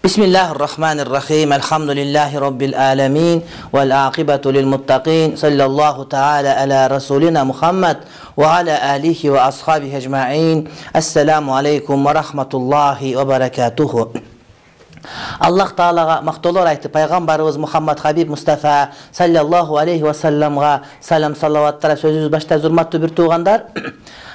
Bismillahirrahmanirrahim. Elhamdülillahi Rabbil alamin. Vel aqibatu lil muttaqin. Sallallahu ta'ala ala Rasulina Muhammed ve ala alihi ve ashabihi ecma'in. Esselamu aleyküm ve rahmetullahi ve berekatuhu. Allah Ta'alaga maqtolor aytып, пайгамбарыбыз Muhammed Habib Mustafa sallallahu aleyhi ve sellemga salam salavattар sözübүз баштайбыз. Урматтуу бир туугандар.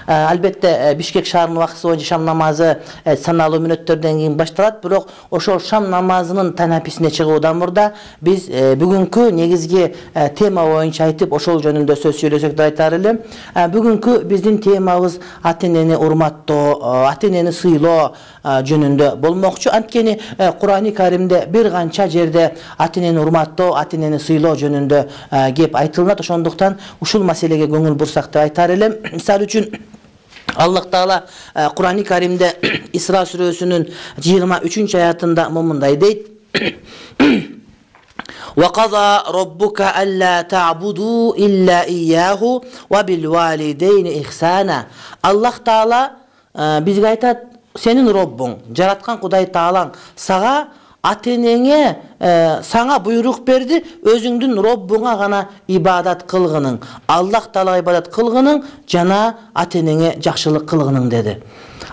Албетте Бишкек шаарынын убактысы боюнча шам намазы саналуу мүнөттөрдөн кийин башталат, бирок ошол шам намазынын танаписине чыгуудан мурда биз бүгүнкү негизги тема боюнча айтып, ошол жөнүндө сөз сүйлөсөк деп айтар элем. Бүгүнкү биздин темабыз ата-энени урматтоо, ата-энени сыйлоо жөнүндө болмокчу. Анткени Кур'ани Каримде бир канча жерде ата-энени урматтоо, ата-энени сыйлоо жөнүндө кеп айтылат. Ошондуктан ушул маселеге көңүл бурсак деп айтар элем. Мисалы үчүн Allah Taala Kur'an-ı Kerim'de İsra Suresi'nin 23. ayetinde mınday deyt. وَقَضَى رَبُّكَ أَلَّا تَعْبُدُوا إِلَّا إِيَّاهُ وَبِالْوَالِدَيْنِ إِحْسَانًا. Allah Taala bizge aytat, senin Rabbin, jaratkan Kuday Taala'ң sağa ата-энеңе саңа буйрук берди, өзүңдүн Роббуңа гана ибадат кылгының, Аллах Таалага ибадат кылгының жана ата-энеңе жакшылык кылгының деди.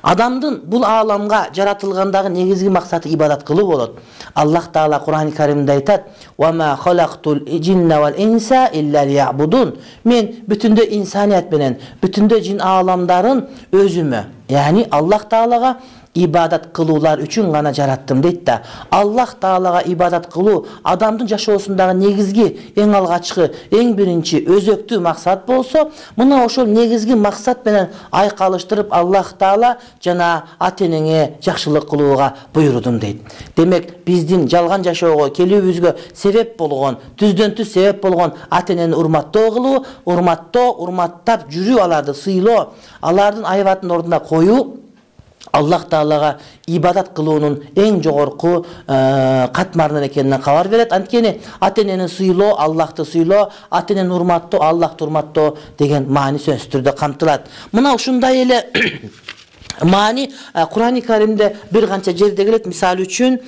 Адамдын бул ааламга жаратылгандагы негизги максаты ибадат кылуу болот. Аллах Таала Кур'ан-ы Каримде айтат: "Ва ма халактул джинна вал инса илля лиябудун." Мен бүтүндө инсаният менен, бүтүндө жин ааламдарын өзүмө, яни Аллах Таалага ибадат кылуулар үчүн гана жараттым дейт да. Аллах Таалага ибадат кылуу адамдын жашоосундагы негизги, эң алгачкы, эң биринчи өзөктүү максат болсо, мына ошол негизги максат менен айкалыштырып Аллах Таала жана ата-энеңе жакшылык кылууга буйрудум дейт. Демек, биздин жалган жашоого келүүбүзгө себеп болгон, түздөн түз себеп болгон ата-энени урматтоо кылуу, урматтап жүрүү, аларды сыйлоо, алардын айбатын ордуна коюу Аллах Таалага ибадат кылуунун эң жогорку катмарынан экенинен кабар берет. Анткени ата-энени сыйлоо, Аллахты сыйлоо, ата-энени урматтоо, Аллахты урматтоо деген маани сөзсүз түрдө камтылат. Мына ушундай эле маани Кур'ан-ы Каримде бир канча жерде келет. Мисалы үчүн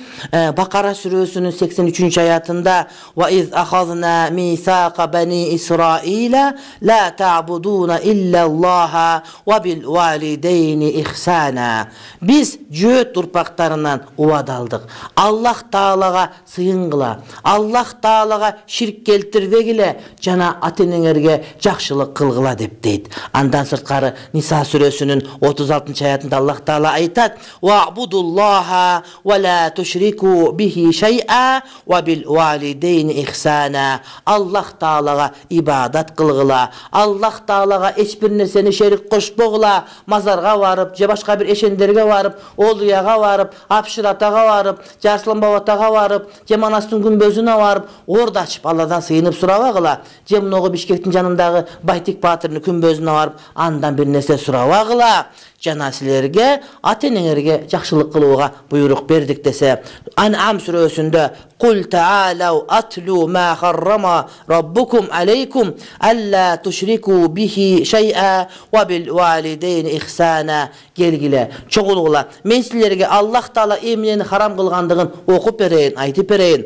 Бакара сүрөсүнүн 83 аятында "Ва из ахазна мисака бани Исраила ла та'будуна иллаллаха ва бил валидейни ихсана." Биз жөөт урпактарынан убада алдык. Аллах Таалага сыйынгыла, Аллах Таалага ширк келтирбегиле жана ата-энеңерге жакшылык кылгыла деп дейт. Андан сырткары Ниса сүрөсүнүн 36 аятында Allah Taala aytat: "Wa'budullaha wa la tushriku bihi shay'a wa bil walidayni ihsana." Allah Taalaga ibadat kılgıla, Allah Taalaga hiç bir nerseni şerik koşpogula, mazarga varıp, je başka bir eşenderge varıp, oluyaga varıp, apşırataga varıp, Jarslan babataga varıp, je Manastın gümbözüne varıp, orada açıp Allah'dan sıyınıp surabagıla, je mnogo Bişkektin janındağı Baytik Batırı'nın gümbözüne varıp, andan bir nerse surabagıla. Jana silerge, ata-энеңерге жакшылык кылууга буйрук бердик десе. Ан'ам сүрөсүндө "Кул таалау атлу ма харрама раббукум алейкум алла тушрику бихи шай'a ва бил валидейни ихсана." Келгиле, чогулгула. Мен силерге Аллах Таала эмнени харам кылгандыгын окуп берейин, айтып берейин.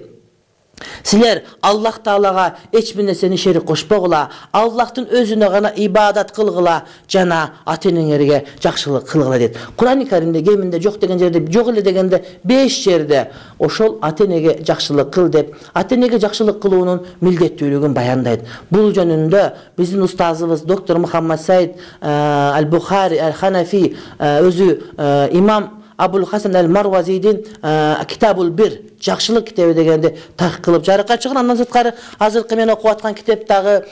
Силер Аллах Таалага эч бир нерсени шерик кошпогула, Аллахтын өзүнө гана ибадат кылгыла жана ата-энеңерге жакшылык кылгыла дейт. Кур'ан-ы Каримде кеминде жок деген жерде, жок эле дегенде 5 жерде ошол ата-энеге жакшылык кыл деп, ата-энеге жакшылык кылуунун милдеттүүлүгүн баяндайт. Бул жөнүндө биздин устазыбыз доктор Мухаммад Саид Аль-Бухари Аль-Ханафи өзү имам Абул Хасан Аль-Марвазидин Китабул Бир жакшылык китеби дегенде так кылып жарыкка чыган. Андан сырткары азыркы мен окуп аткан китептагы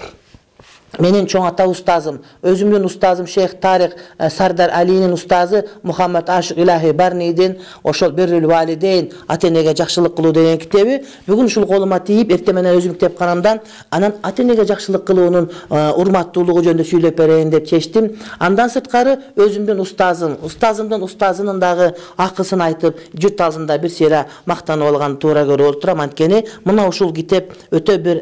менин чоң ата устазым, өзүмдүн устазым Шейх Тарик Сардар Алинин устазы Мухаммад Ашик Илахи Барнидин ошол Биррул Валидейн ата-энеге жакшылык кылуу деген китеби бүгүн ушул колума тийип, эртең менен өзүм китепканамдан анан ата-энеге жакшылык кылуунун урматтуулугу жөнүндө сүйлөп берейин деп чечтим. Андан сырткары өзүмдүн устазымдын устазынын дагы акысын айтып, жұрт алдында бир сыйра мактанып алган туура көрүп отурам. Анткени мына ушул китеп өтө бир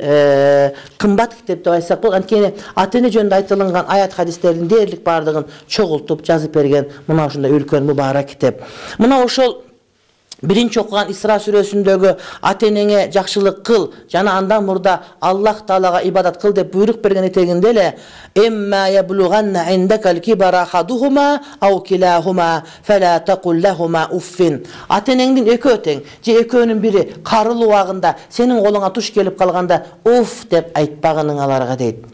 кымбат китеп деп айтсак болот. Анткени ата-эне жөнүндө айтылган аят хадистердин дээрлик бардыгын чогултуп жазып берген мына ушундай үлкөн мубарак китеп. Мына ошол Birinci okugan İsra сүрөсүндөгү ата-энеңе жакшылык кыл жана андан мурда Аллах Таалага ибадат кыл деп буйрук берген этегинде эле эмма яблуганна индакал кибара хадухума ау килахума фала тaqul lahuma uffin. Ата-энеңдин экөө тең же экөөнүн бири карылуу убагында сенин колуңа туш келип калганда уф деп айтпагының аларга дейт.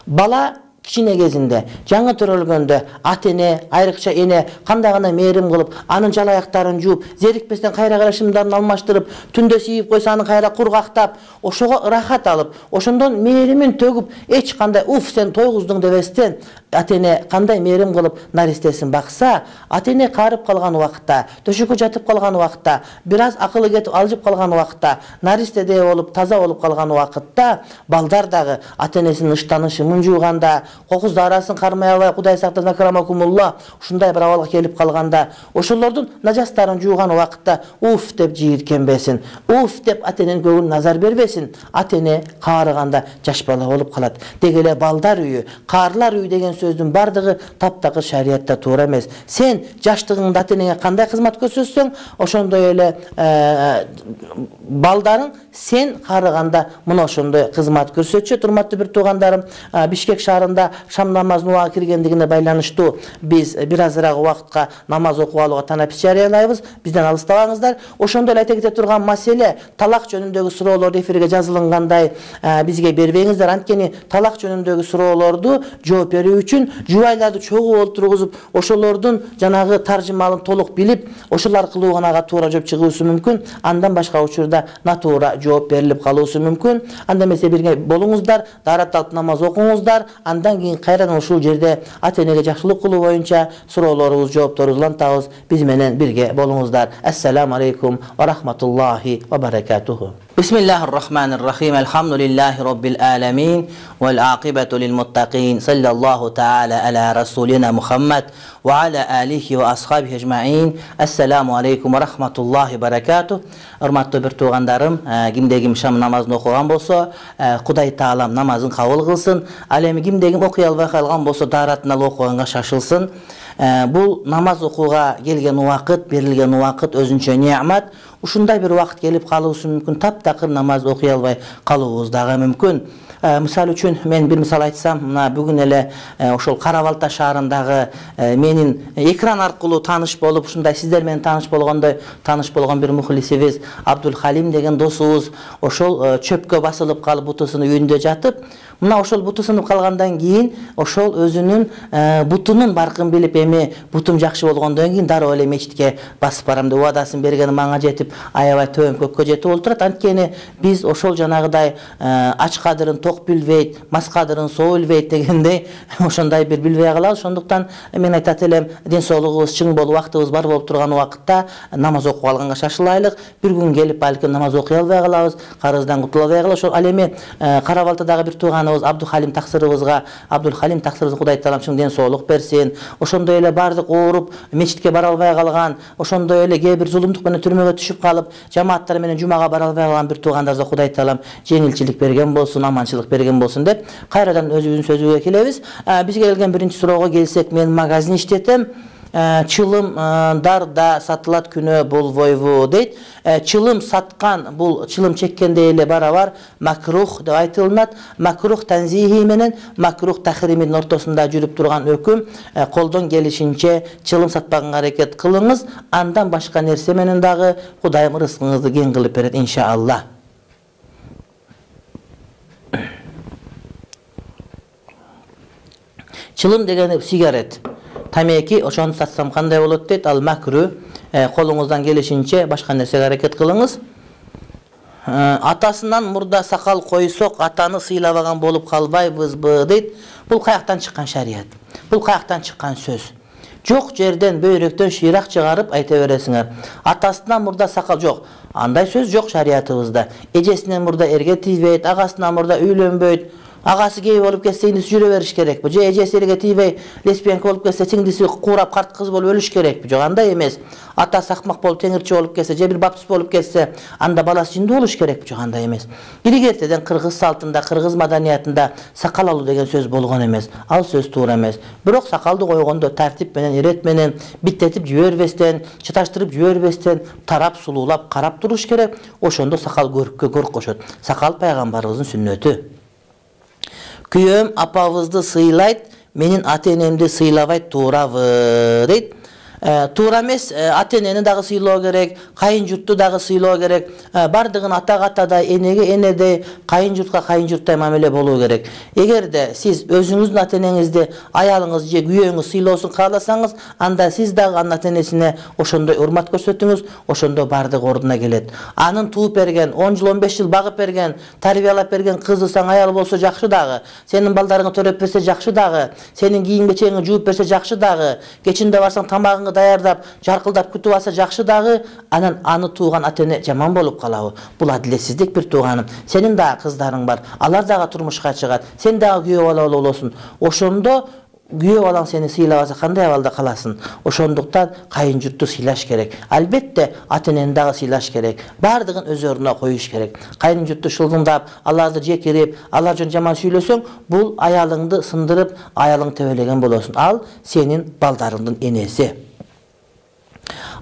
Бала кичине кезинде жаңы төрөлгөндө ата-эне, айрыкча эне кандай гана мээрим кылып, анын жалаяктарын жууп, зерикпестен кайра карашымдарын алмаштырып, түндө сийип койсо аны кайра кургактап, ошого ырахат алып, ошондон мээримин төгүп, эч кандай уф сен тойгуздуң дебестен ата-эне кандай мээрим кылып наристесин бакса, ата-эне каарып калган убакытта, төшөккө жатып калган убакытта, бир аз акылы кетип алжып калган убакытта, наристеде болуп, таза болуп калган убакытта, балдар дагы ата-энесинин ыштанышын жууганда, кокуз дарасын кармай албай, Кудай сактасын акрамакумулла, ушундай бир абалга келип калганда, ошолордун нажастарын жууган убакытта уф деп жийиркенбесин, уф деп ата-эненин көңүлүнө назар бербесин. Ата-эне каарыганда жаш бала болуп калат. Деги эле балдар үйү, каарлар үйү деген сөздүн бардыгы таптакыр шариятта туура эмес. Сен жаштыгыңда ата-энеңе кандай кызмат көрсөтсөң, ошондой эле балдарың сен каарыганда мына ошондой кызмат көрсөтчү. Урматтуу бир туугандарым, Бишкек шаарында шам намазынын убагы киргендигине байланыштуу биз бир азыраак убакытка намаз окуп алууга танапис жарыялайбыз. Бизден алыстабаңыздар. Ошондой эле айта кете турган маселе талак жөнүндөгү суроолор эфирге жазылгандай бизге бербеңиздер. Анткени талак жөнүндөгү суроолорду жооп берүү үчүн жубайларды чогуу олтургузуп, ошолордун жанагы таржымалын толук билип, ошол аркылуу гана ага туура жооп чыгуусу мүмкүн. Андан башка учурда натуура жооп берилип калуусу мүмкүн. Анда эмесе бирге болуңуздар, даарат алып намаз окуңуздар. Андан кийин кайрадан ушул жерде ата-энеге жакшылык кылуу боюнча суроолорубуз, жоопторубузду улантабыз. Биз менен бирге болуңуздар. Ассаламу алейкум ва рахматуллахи ва баракатуху. Бисмиллахир-рахманир-рахим. Алхамдулиллахи роббил аламин вал акибату лил муттакин. Саллаллаху таала аля расулина Мухаммад ва аля алихи ва асхабихи ажмаин. Ассаламу алейкум ва рахматуллахи ва баракатух. Урматтуу бир туугандарым, кимде ким шам намазын окуган болсо, Кудай Таалам намазын кабыл кылсын. Ал эми кимде ким окуй албай калган болсо, дааратын алып окуганга шашылсын. Бул намаз окууга келген убакыт, берилген убакыт өзүнчө неамат. Ушундай бир убакыт келип калуусу мүмкүн, таптакыр намаз окуй албай калуубуз дагы мүмкүн. Мисал үчүн мен бир мисал айтсам, мына бүгүн эле ошол Кара Балта шаарындагы менин экран аркылуу тааныш болуп, ушундай сиздер менен тааныш болгон бир мухлисибиз Абдул Халим деген досубуз ошол чөпкө басылып калып бутусунун үйүндө жатып, мына ошол буту сынып калгандан кийин ошол өзүнүн бутунун баркын билип, эми бутум жакшы болгондон кийин дароо эле мечитке басып барам деп убадасын берген, мага жетип аябай төмөн көккө жетип олтурат. Анткени биз ошол жанагыдай ач кадырын ток билбейт, мас кадырын соо билбейт дегендей ошондой бир билбей калабыз. Ошондуктан мен айтат элем, ден соолугубуз чың болуп, убактыбыз бар болуп турган убакытта намаз окуп алганга шашылайлык. Бир күн келип балким намаз окуй албай калабыз, карыздан кутула албай калабыз. Ошол ал эми Кара Балтадагы бир тууганыбыз Абдул Халим таксырыбызга Кудай Таалам чың ден соолук берсин. Ошондой эле бардык ооруп, мечитке бара албай калган, ошондой эле кээ бир зулумдук менен түрмөгө түшүп калып, жамааттар менен жумага бара албай калган бир туугандарыбызга Кудай Таалам жеңилчилик берген болсун, аманчылык берген болсун деп кайрадан өзүбүздүн сөзүбүзгө келебиз. Бизге келген биринчи суроого келсек, мен магазин иштетем. Чылымдар сатылат күнөө болбойбу дейт. Чылым саткан, бул чылым чеккенде эле барабар макрух деп айтылат. Макрух танзихи менен макрух тахримдин ортосунда жүрүп турган өкүм. Колдон келишинче чылым сатпаганга аракет кылыңыз. Андан башка нерсе менен дагы Кудайым рызкыңызды кең кылып берет иншалла. Чылым деген сигарет, тамеки, ошону сатсам кандай болот дейт. Ал макру, колуңуздан келишинче башка нерсеге аракет кылыңыз. Атасынан мурда сакал койсок, атаны сыйлабаган болуп калбайбызбы дейт. Бул каяктан чыккан шарият? Бул каяктан чыккан сөз? Жок жерден бөйрөктөн шыйрак чыгарып айта бересиңер. Атасынан мурда сакал жок. Андай сөз жок шариятыбызда. Эжесинен мурда эрге тийбейт, агасынан мурда үйлөнбөйт. Агасы гей болуп кетсе индиси жүрө бериш керекпи? Же эжеси элге тийбей лесбиянка болуп кетсе сиңдиси куурап карт кыз болуп өлүш керекпи? Жок, андай эмес. Атасы акмак болуп теңирчи болуп кетсе, же бир баптист болуп кетсе, анда баласы жиндүү болуш керекпи? Жок, андай эмес. Илгертеден кыргыз салтында, кыргыз маданиятында сакал алуу деген сөз болгон эмес. Ал сөз туура эмес. Бирок сакалды койгондо тартип менен, ирет менен, биттетип жибербестен, чаташтырып жибербестен, тарап сулуулап карап туруш керек. Ошондо сакал көрккө көрк кошот. Сакал пайгамбарыбыздын сүннөтү. Күйөөм апабызды сыйлайт, менин ата-энемди сыйлабайт, туурабы дейт. Туура эмес, ата-энени дагы сыйлоо керек, кайын журтту дагы сыйлоо керек. Бардыгын атага атадай, энеге энедей, кайын журтка кайын журттай мамиле болуу керек. Эгерде сиз өзүңүздүн ата-энеңизди аялыңыз же күйөөңүз сыйлоосун кааласаңыз, анда сиз дагы анын ата-энесине ошондой урмат көрсөтүңүз, ошондо бардыгы ордуна келет. Анын тууп берген, 10 жыл, 15 жыл багып берген, тарбиялап берген кызы саң аял болсо жакшы дагы, сенин балдарыңы төрөп берсе жакшы дагы, сенин кийим-кечеңи жууп берсе жакшы дагы, кечинде барсаң тамагыңы даярдап, жаркылдап күтүп алса жакшы дагы, анан аны тууган ата-эне жаман болуп калабы? Бул адилетсиздик бир тууганым. Сенин дагы кыздарың бар, алар дагы турмушка чыгат, сен дагы күйөө бала болосуң. Ошондо күйөө балаң сени сыйлабаса кандай абалда каласың? Ошондуктан кайын журтту сыйлаш керек. Албетте ата-энени дагы сыйлаш керек. Бардыгын өз ордуна коюш керек. Кайын журтту шылдыңдап, аларды жекирип, алар жөн жаман сүйлөсөң, бул аялыңды сындырып, аялың тебелеген болосуң. Ал сенин балдарыңдын энеси.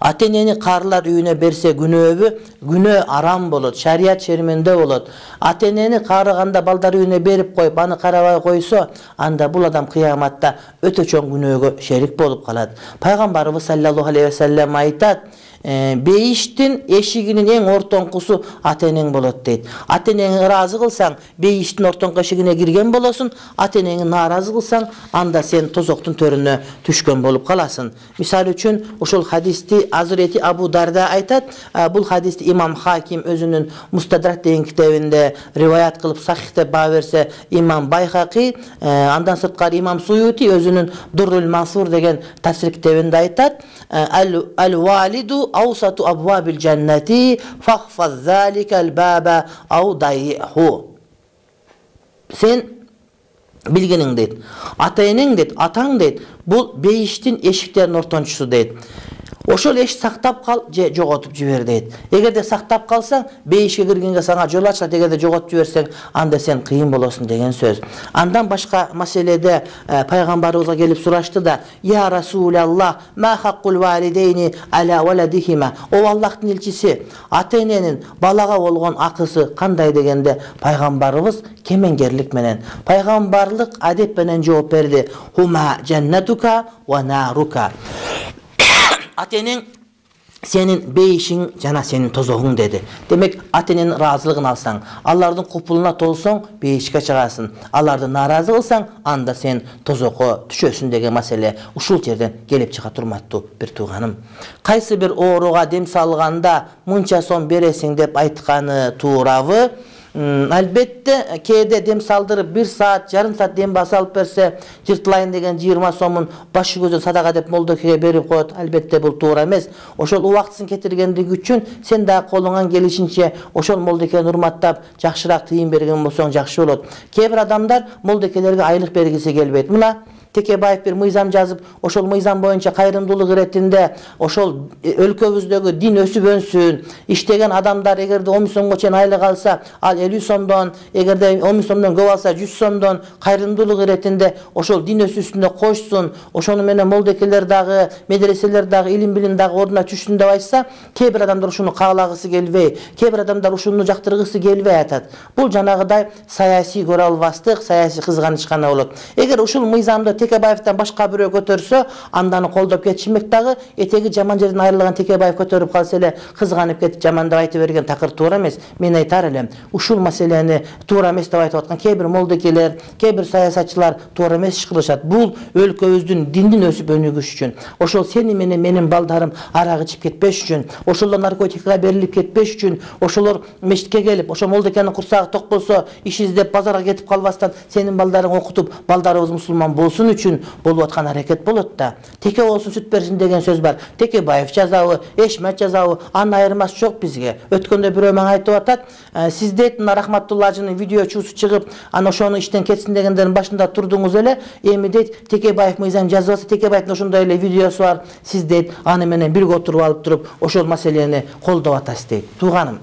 Ата-энени карылар үйүнө берсе күнөөбү? Күнөө арам болот, шарият шерменде болот. Ата-энени карыганда балдар үйүнө берип коюп, аны карабай койсо, анда бул адам кыяматта өтө чоң күнөөгө шерик болуп калат. Пайгамбарыбыз саллаллаху алейхи ва саллям айтат: бейиштин эшигинин эң ортоңкусу ата-энең болот дейт. Ата-энеңи ыраазы кылсаң, бейиштин ортоңку эшигине кирген болосуң. Ата-энеңи нааразы кылсаң, анда сен тозоктун төрүнө түшкөн болуп каласың. Мисал үчүн, ошол хадисти Азирети Абу Дарда айтат. Бул хадисти имам Хаким өзүнүн Мустадрак деген китебинде риваят кылып сахих деп баа берсе, имам Байхақи, андан сырткары имам Суюти өзүнүн Дуррул Мансур деген тафсир китебинде айтат: ал-валиду аусату абвабил джаннати фахфаз заликал баба ау дайиху. Сен билгениң дейт, ата-энең дейт, атаң дейт, бул бейиштин эшиктеринин ортончусу дейт. Ошол эш сактап кал же жоготуп жибер дейт. Эгерде сактап калсаң, бейишке киргенге сага жол ачат, эгерде жоготуп жиберсең, анда сен кыйын болосуң деген сөз. Андан башка маселеде пайгамбарыбызга келип сурашты да: "Я Расулаллах, ма хаккул валидейни аля валадихима?" О Аллахтын элчиси, ата-эненин балага болгон акысы кандай дегенде, пайгамбарыбыз кемеңгерлик менен, пайгамбарлык адеп менен жооп берди: "Хума джаннатука ва нарука." Ата-энең сенин бейишиң жана сенин тозогуң деди. Демек, ата-эненин ыраазылыгын алсаң, алардын купулуна толсоң, бейишке чыгасың. Аларды нааразы кылсаң, анда сен тозокко түшөсүң деген маселе ушул жерден келип чыга турматтуу бир тууганым. Кайсы бир ооруга дем салганда мынча сом бересиң деп айтканы туурабы? Албетте, кээде дем салдырып 1 саат, жарым саат дем басалып берсе, жыртылайын деген 20 сомун башы көзү садака деп молдокеге берип коет. Албетте бул туура эмес. Ошол убактысын кетиргендиги үчүн сен дагы колуңан келишинче ошол молдокени урматтап, жакшыраак тыйын берген болсоң жакшы болот. Кээ бир адамдар молдокелерге айлык бергиси келбейт. Мына Текебаев бир мыйзам жазып, ошол мыйзам боюнча кайрымдуулук иретинде ошол өлкөбүздөгү дин өсүп өнсүн. Иштеген адамдар эгерде 10 сомго чейин айлык алса, ал 50 сомдон, эгерде 10 сомдон көп алса 100 сомдон кайрымдуулук иретинде ошол дин өсүүсүнө кошсун. Ошону менен молдекелер дагы, медреселер дагы, илим билим дагы ордуна түшсүн деп айтса, кээ бир адамдар ушуну каалагысы келбей, кээ бир адамдар ушуну жактыргысы келбей атат. Бул жанагыдай саясий көрө албастык, саясий кызганыч гана болот. Эгер ушул мыйзамды Текебаевтан башка бирөө көтөрсө, анданы колдоп кетишмек дагы, этеги жаман жерден айрылган Текебаев көтөрүп калса эле кызганып кетип жаман деп айтып берген такыр туура эмес. Мен айтар элем, ушул маселени туура эмес деп айтып аткан кээ бир молдекелер, кээ бир саясатчылар туура эмес иш кылышат. Бул өлкөбүздүн диндин өсүп өнүгүшү үчүн, ошол сени менен менин балдарым арак ичип кетпеш үчүн, ошолор наркотикага берилип кетпеш үчүн, ошолор мечитке келип, ошол молдекенин курсагы ток болсо, иш издеп базарга кетип калбастан, сенин балдарың окутуп, балдарыбыз мусулман болсун түшүрүү үчүн болуп аткан аракет болот да. Теке болсун сүт берсин деген сөз бар. Текебаев жазабы, Эшмет жазабы, анын айырмасы жок бизге. Өткөндө бирөө мага айтып атат, сиз дейт мына Рахматулла ажынын видеочусу чыгып, аны ошону иштен кетсин дегендердин башында турдуңуз эле. Эми дейт Текебаев мыйзам жазып атса, Текебаевдин ошондой эле видеосу бар. Сиз дейт аны менен бирге отуруп алып туруп, ошол маселени колдоп атасыз дейт. Тууганым,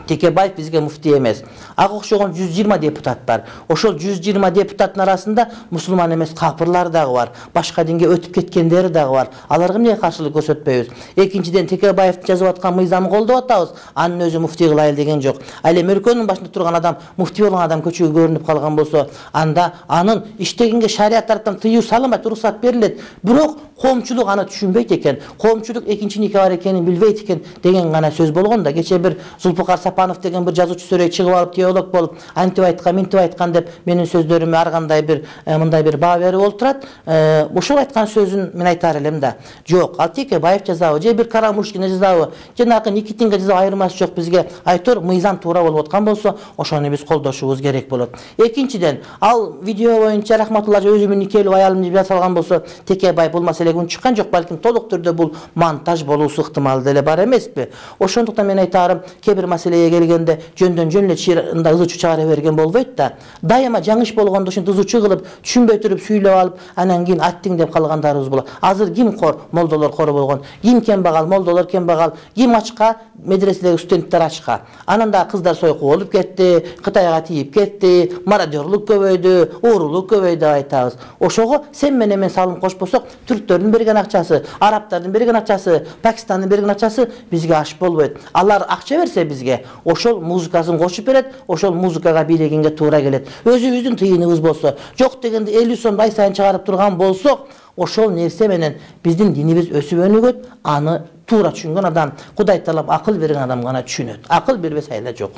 Текебаев бизге муфтий эмес. Ага окшогон 120 депутат бар. Ошол 120 депутаттын арасында мусулман эмес капырлар дагы бар. Башка динге өтүп кеткендери дагы бар. Аларга эмне каршылык көрсөтпөйбүз? Экинчиден, Текебаев жазып аткан мыйзамды колдоп атабыз. Анын өзү муфтий кылайлы деген жок. Ал эми өлкөнүн башында турган адам, муфтий болгон адам көчөгө көрүнүп калган болсо, анда анын иштегенге шарият тараптан тыюу салынбайт, уруксат берилет. Бирок коомчулук аны түшүнбөйт экен. Коомчулук экинчи нике бар экенин билбейт экен деген гана сөз болгон да. Кече бир Зулпукар Сапанов деген бир жазуучу сөрөй чыгып алып, теолог болуп, антип айткан, минтип айткан деп менин сөздөрүмө ар кандай бир мындай бир баа берип олтурат. Ошол айткан сөзүн мен айтар элем да. Жок, ал Текебаев жазабы, же бир Карамушкина жазабы, жанагы Никитинге жазабы, айырмасы жок бизге. Айтор мыйзам туура болуп аткан болсо, ошону биз колдошубуз керек болот. Экинчиден, ал видео боюнча Рахматулла өзүмүн никелүү аялым деп жасалган болсо, Текебаев бул маселеге чыккан жок, балким толук түрдө бул монтаж болуусу ыктымал деле бар эмеспи? Ошондуктан мен айтарым, кээ бир маселеге келгенде жөндөн жөн эле чыйрында ызычуу чыгара берген болбойт да. Дайыма жаңыш болгондо ушинтип ызычуу кылып, түшүнбөй туруп сүйлөп алып, анан кийин аттиң деп калгандарыбыз болот. Азыр ким кор? Молдолор кор болгон. Ким кембагал? Молдолор кембагал. Ким ачка? Медреседеги студенттер ачка. Анан да кыздар сойку болуп кетти, Кытайга тийип кетти, мародерлук көбөйдү, уурулук көбөйдү деп айтабыз. Ошого сен менен мен салым кошпосок, түрктөрдүн берген акчасы, арабтардын берген акчасы, Пакистандын берген акчасы бизге аш болбойт. Алар акча берсе бизге, ошол музыкасын кошуп берет, ошол музыкага бийлегенге туура келет. Өзүбүздүн тыйыныбыз болсо, жок дегенде 50 сом ай сайын чыгарып турган болсок, ошол нерсе менен биздин динибиз өсүп өнүгөт. Аны туура түшүнгөн адам, Кудай таалап акыл берген адам гана түшүнөт. Акыл бербесе айла жок.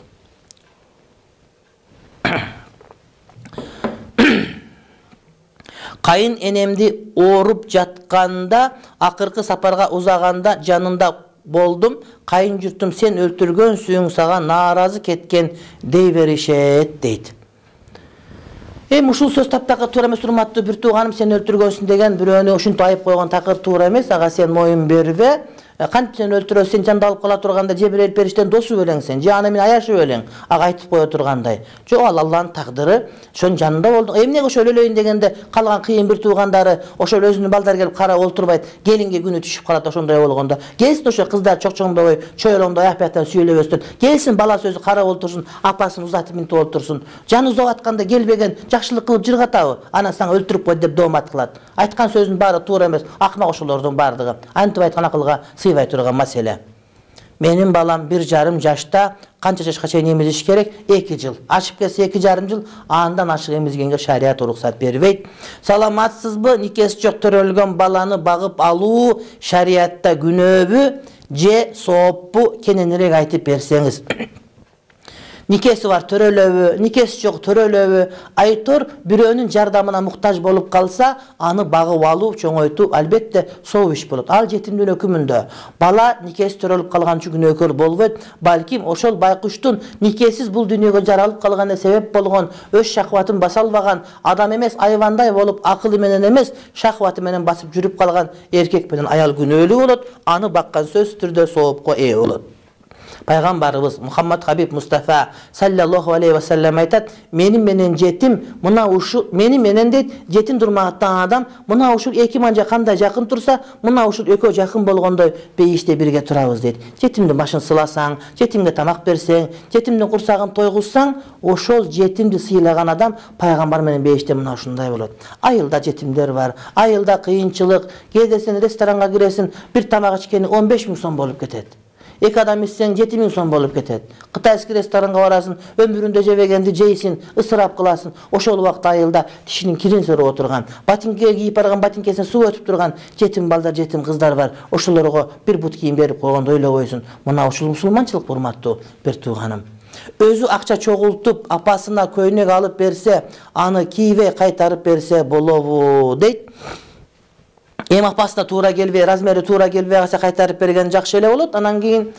Кайын энемди ооруп жатканда, акыркы сапарга узаганда жанында болдум. Кайын журтум сен өлтүргөнсүң, сага нааразы кеткен дей беришет дейт. Ушул сөз таптакыр туура эмес, урматтуу бир тууганым, сен өлтүргөнсүң деген бирөөнү ушинтип айып койгон такыр туура эмес. Ага сен моюн бербе. Кантип сен өлтүрөсүң, сен жанда алып кала турганда Жебирейил периштенин досу белең сен, же аны мен аяшып белең. Ага айтып кое тургандай. Жок, ал Алланын тагдыры, ошонун жанында болду. Эмнеге ошол өлөйүн дегенде калган кыйын бир туугандары, ошол өзүнүн балдары келип карап олтурбайт, келинге күнү түшүп калат ошондой болгондо. Келсин ошо кыздар чокчоңдобой, чойлоңдой аяк бияктан сүйлөбөстөн. Келсин бала сөзү карап олтурсун, апасын узатып минтип олтурсун. Жаны узап атканда келбеген жакшылык кылып жыргатабы? Анан сага өлтүрүп кой деп доомат кылат. Айткан сөзүнүн баары туура эмес. Акмак ошолордун баардыгы. Антип айткан акылга сыйбай турган маселе. Менин балам 1,5 жашта, канча жашка чейин эмизиш керек? 2 жыл. Ашып кетсе 2,5 жыл, андан ашык эмизгенге шарият уруксат бербейт. Саламатсызбы? Никеси жок төрөлгөн баланы багып алуу шариятта күнөөбү же сооппу? Кененирээк айтып берсеңиз. Никеси бар төрөлөбү, никеси жок төрөлөбү? Айтор бирөөнүн жардамына муктаж болуп калса, аны багып алуу, чоңойтуу албетте соо иш болот. Ал жетимдин өкүмүндө. Бала никеси төрөлүп калган үчүн күнөөкөр болбойт. Балким ошол байкуштун никесиз бул дүйнөгө жаралып калганына себеп болгон, өз шахватын баса албаган, адам эмес, айвандай болуп, акылы менен эмес, шахваты менен басып жүрүп калган эркек менен аял күнөөлүү болот. Аны баккан сөзсүз түрдө соопко ээ болот. Пайгамбарыбыз Мухаммад Хабиб Мустафа саллаллаху алейхи ва саллям айтат: "Менин менен жетим, мына ушул менин менен дейт, жетим турмаган адам, мына ушул эки манжа кандай жакын турса, мына ушул экөө жакын болгондой бейиште бирге турабыз" дейт. Жетимдин башын сыласаң, жетимге тамак берсең, жетимдин курсагын тойгузсаң, ошол жетимди сыйлаган адам пайгамбар менен бейиште мына ушундай болот. Айылда жетимдер бар, айылда кыйынчылык, кээде сен ресторанга киресиң, бир тамак ичкени 15 000 сом болуп кетет. Эки адам ичсең 7 000 сом болуп кетет. Кытайский ресторанга барасың, өмүрүндө жебегенди жейсиң, ысырап кыласың. Ошол убакта айылда тишинин кирин сөрөп отурган, батинке кийип барган, батинкесине суу өтүп турган жетим балдар, жетим кыздар бар. Ошолорго бир бут кийим берип койгондо ойлобойсуң, мына ушул мусулманчылык, урматтуу бир тууганым. Өзү акча чогултуп, апасына көйнөк алып берсе, аны кийбей кайтарып берсе болобу дейт. эми апасына туура келбей, размери туура келбей калса кайтарып берген жакшы эле болот. Анан кийин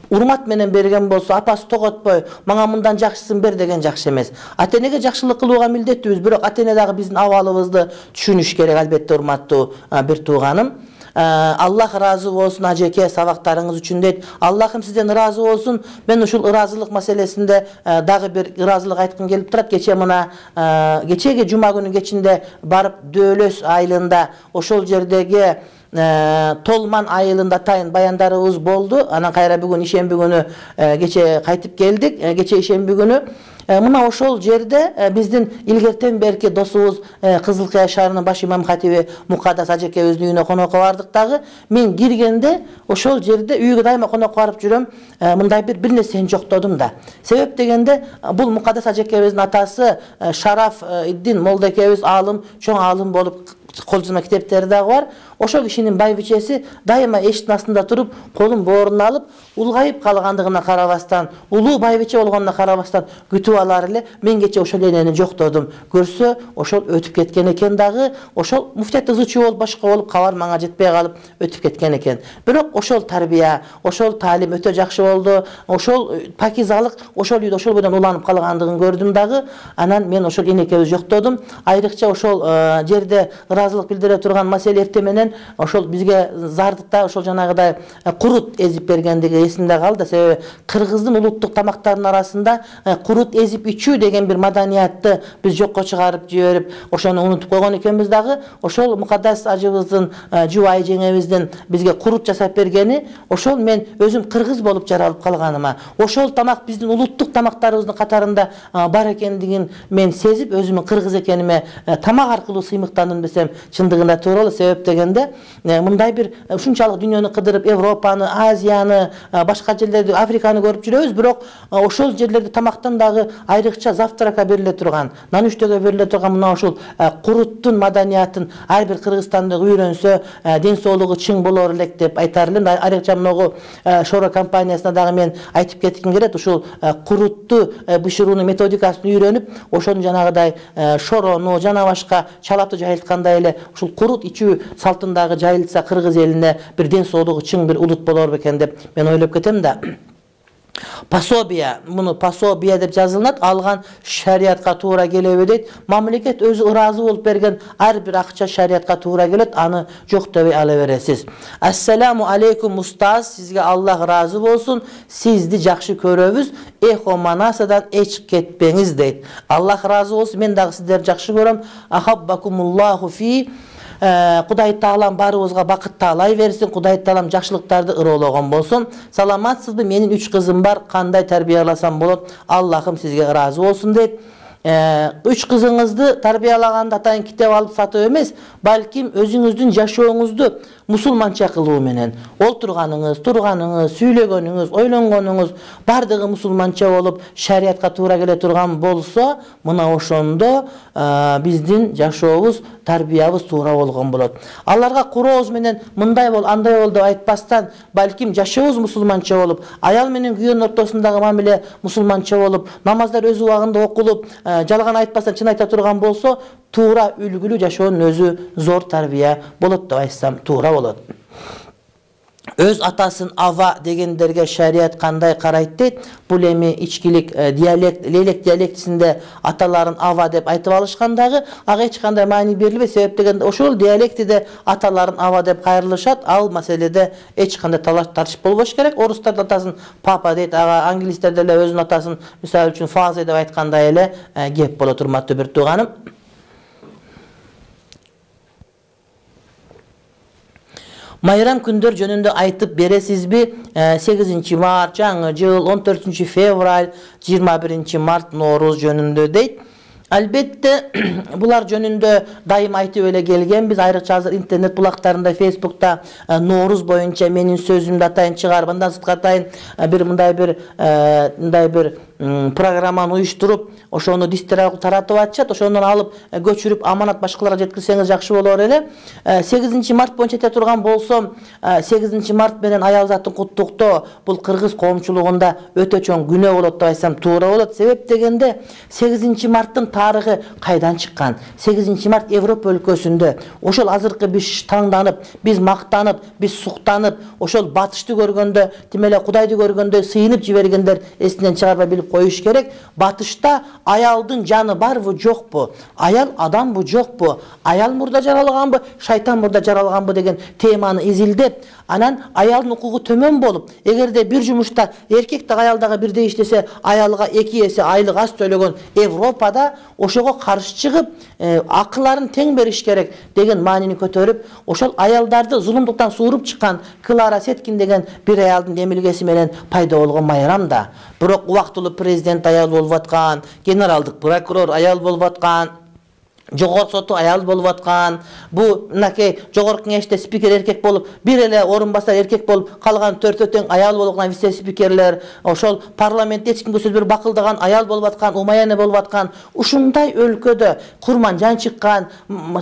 урмат менен берген болсо, апасы тоготпой, мага мындан жакшысын бер деген жакшы эмес. Ата-энеге жакшылык кылууга милдеттүүбүз, бирок ата-эне дагы биздин абалыбызды түшүнүш керек, албетте, урматтуу бир тууганым. Аллах разы болсун ажеке сабактарыңыз үчүн дейт. Аллахым сизден разы болсун. Мен ушул ыраазылык маселесинде дагы бир ыраазылык айткым келип турат. Кече мына кечеги жума күнү кечинде барып Дөөлөс айылында ошол жердеги Толман айылында атайын баяндарыбыз болду. Анан кайра бүгүн ишемби күнү кече кайтып келдик. Кече ишемби күнү мына ошол жерде биздин илгертен берки досубуз Кызылкая шаарынын баш имам хатиби Мукаддас ажекебиздин үйүнө конокко бардык дагы. Мен киргенде ошол жерде үйгө дайыма конокко барып жүрөм. Мындай бир нерсени жоктодум да. Себеп дегенде бул Мукаддас ажекебиздин атасы Шараф Иддин молдекебиз аалым, чоң аалым болуп кол жазма китептери дагы бар. Ошол кишинин байбичеси дайыма эшиктин астында туруп, колун бооруна алып, улгайып калгандыгына карабастан, улуу байбиче болгонуна карабастан күтүп алар эле. Мен кече ошол энени жоктодум. Көрсө, ошол өтүп кеткен экен дагы. Ошол муфтият ызычуу болуп, башка болуп, кабар мага жетпей калып өтүп кеткен экен. Бирок ошол тарбия, ошол таалим өтө жакшы болду. Ошол пакизалык ошол үйдө ошол бойдон уланып калгандыгын көрдүм дагы. Анан мен ошол энекебиз жоктодум. Айрыкча ошол жерде ыраазылык билдире турган маселе эрте менен ошол бизге зардытта ошол жанагыдай курут эзип бергендиги эсимде калды. Себеби кыргыздын улуттук тамактарынын арасында курут эзип ичүү деген бир маданиятты биз жокко чыгарып жиберип, ошону унутуп койгон экенбиз дагы. Ошол Мукаддас ажыбыздын, жубайы жеңебиздин бизге курут жасап бергени, ошол мен өзүм кыргыз болуп жаралып калганыма, ошол тамак биздин улуттук тамактарыбыздын катарында бар экендигин мен сезип, өзүмдүн кыргыз экениме тамак аркылуу сыймыктандым десем чындыгында туура болот. Себеп дегенде мындай бир ушунчалык дүйнөнү кыдырып, Европаны, Азияны, башка жерлерди, Африканы көрүп жүрөбүз, бирок ошол жерлерде тамактан дагы айрыкча завтракка бериле турган, нанүштөгө бериле турган мына ошол куруттун маданиятын ар бир кыргызстандык үйрөнсө, ден соолугу чың болор элек деп айтар элем. Айрыкча могу Шора компаниясына дагы мен айтып кетким келет. Ушул курутту бышыруунун методикасын үйрөнүп, ошону жанагыдай шорону жана башка чалапты жайылткандай эле ушул курут ичүү салтындагы жайылтса кыргыз элине бир ден соолугу чың бир улут болор бекен деп мен ойлоп кетем да. Пособия, муну пособия деп жазылат, алган шариатка туура келеби дейт. Мамлекет өзү ыраазы болуп берген ар бир акча шариатка туура келет, аны жоктобой ала бересиз. Ассаламу алейкум устаз, сизге Аллах разы болсун, сизди жакшы көрөбүз, эхо манасадан эч кетпеңиз дейт. Аллах разы болсун, мен дагы сиздерди жакшы көрөм. Ахаббакумуллаху фи. Кудай Таалам барыбызга бакыт таалай берсин, Кудай Таалам жакшылыктарды ыроологон болсун. Саламатсызбы? Менин 3 кызым бар, кандай тарбияласам болот? Аллахым сизге ыраазы болсун дейт. 3 кызыңызды тарбиялаганда атайын китеп алып сатып эмес, балким өзүңүздүн жашооңузду мусулманча кылуу менен, олтурганыңыз, турганыңыз, сүйлөгөнүңүз, ойлонгонуңуз бардыгы мусулманча болуп, шариатка туура келе турган болсо, мына ошондо биздин жашообуз, тарбиябыз туура болгон болот. Аларга курообуз менен мындай бол, андай бол деп айтпастан, балким жашообуз мусулманча болуп, аял менен күйөөнүн ортосундагы мамиле мусулманча болуп, намаздар өз убагында окулуп, жалган айтпастан чын айта турган болсо, туура үлгүлүү жашоонун өзү зор тарбия болот деп айтсам туура болот. Өз атасын ава дегендерге шариат кандай карайт дейт? Бул эми ичкилик диалект, лелек диалектисинде аталарын ава деп айтып алышкандагы, ага эч кандай маани берилбейт. Себеп дегенде ошол диалектиде аталарын ава деп кайрылышат. Ал маселеде эч кандай талаш тартыш болбош керек. Орустар атасын папа дейт, ага англистер деле өзүнүн атасын мисалы үчүн фаза деп айткандай эле кеп болот, урматтуу бир тууганым. Майрам күндөр жөнүндө айтып бересизби? 8 март, жаңы жыл, 14 февраль, 21 март, Норуз жөнүндө дейт. Албетте, булар жөнүндө дайым айтып эле келгенбиз. Айрыкча азыр интернет булактарында, Фейсбукта Норуз боюнча менин сөзүмдү атайын чыгарып, андан сырткары атайын бир мындай бир программаны уюштуруп, ошону дистер аркылуу таратып атышат. Ошондон алып көчүрүп аманат башкаларга жеткирсеңиз жакшы болор эле. 8 март боюнча айта турган болсом, 8 март менен аял затын куттуктоо бул кыргыз коомчулугунда өтө чоң күнөө болот деп айтсам туура болот. Себеп дегенде 8 марттын тарыхы кайдан чыккан? 8 март Европа өлкөсүндө ошол азыркы биз таңданып, биз мактанып, биз суктанып, ошол батышты көргөндө, тим эле Кудайды көргөндө сыйынып жибергендер эсинен чыгарбай билип коюш керек. Батышта аялдын жаны барбы, жокпу? Аял адамбы, жокпу? Аял мурда жаралганбы, шайтан мурда жаралганбы деген теманы изилдеп, анан аялдын укугу төмөн болуп, эгерде бир жумушта эркек да аял дагы бирдей иштесе, аялга 2 эсе айлык аз төлөгөн Европада ошого каршы чыгып, акылларын тең бериш керек деген маанини көтөрүп, ошол аялдарды зулумдуктан сууруп чыккан Клара Сеткин деген бир аялдын эмилгеси менен пайда болгон майрам да. Бирок убактылуу президент аял болуп аткан, генералдык прокурор аял болуп аткан, жогорку соту аял болуп аткан, бу мынакей жогорку кеңеште спикер эркек болуп, бир эле орун басар эркек болуп, калган 4 тең аял болуп аткан вице спикерлер, ошол парламентте эч кимге сөз берип бакылдаган аял болуп аткан, Умаяне болуп аткан, ушундай өлкөдө Курманжан чыккан,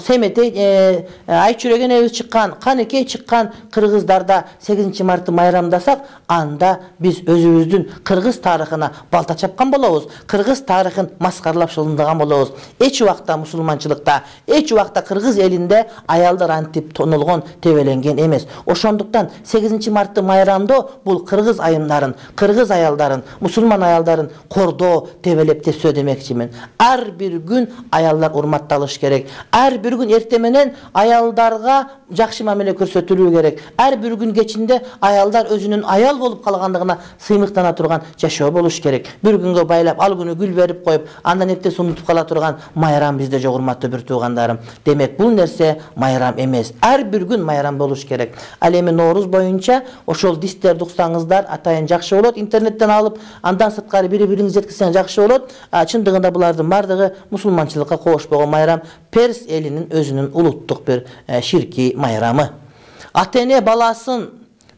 Семетей Айчүрөк энебиз чыккан, Канекей чыккан кыргыздарда 8 мартты майрамдасак, анда биз өзүбүздүн кыргыз тарыхына балта чапкан болобуз, кыргыз тарыхын маскаралап шылындаган болобуз. Эч убакта мусулманчылыкта, эч убакта кыргыз элинде аялдар антип тонолгон, тебеленген эмес. Ошондуктан 8 мартты майрамдоо бул кыргыз айымдарын, кыргыз аялдарын, мусулман аялдарын кордоо, тебелеп тепсөө демекчимин. Ар бир күн аялдар урматталыш керек. Ар бир күн эрте менен аялдарга жакшы мамиле көрсөтүлүү керек. Ар бир күн кечинде аялдар өзүнүн аял болуп калгандыгына сыймыктана турган жашоо болуш керек. Бир күнгө байлап, ал күнү гүл берип коюп, андан эртеси унутуп кала турган майрам бизде жок, урматтуу бир туугандарым. Демек бул нерсе майрам эмес. Ар бир күн майрам болуш керек. Ал эми Нооруз боюнча ошол дистерди уксаңыздар атайын жакшы болот. Интернеттен алып, андан сырткары бири-бириңизге жеткизсең жакшы болот. Чындыгында булардын бардыгы мусулманчылыкка кошпогон майрам, Перс элинин өзүнүн улуттук бир ширки майрамы. Ата-эне баласын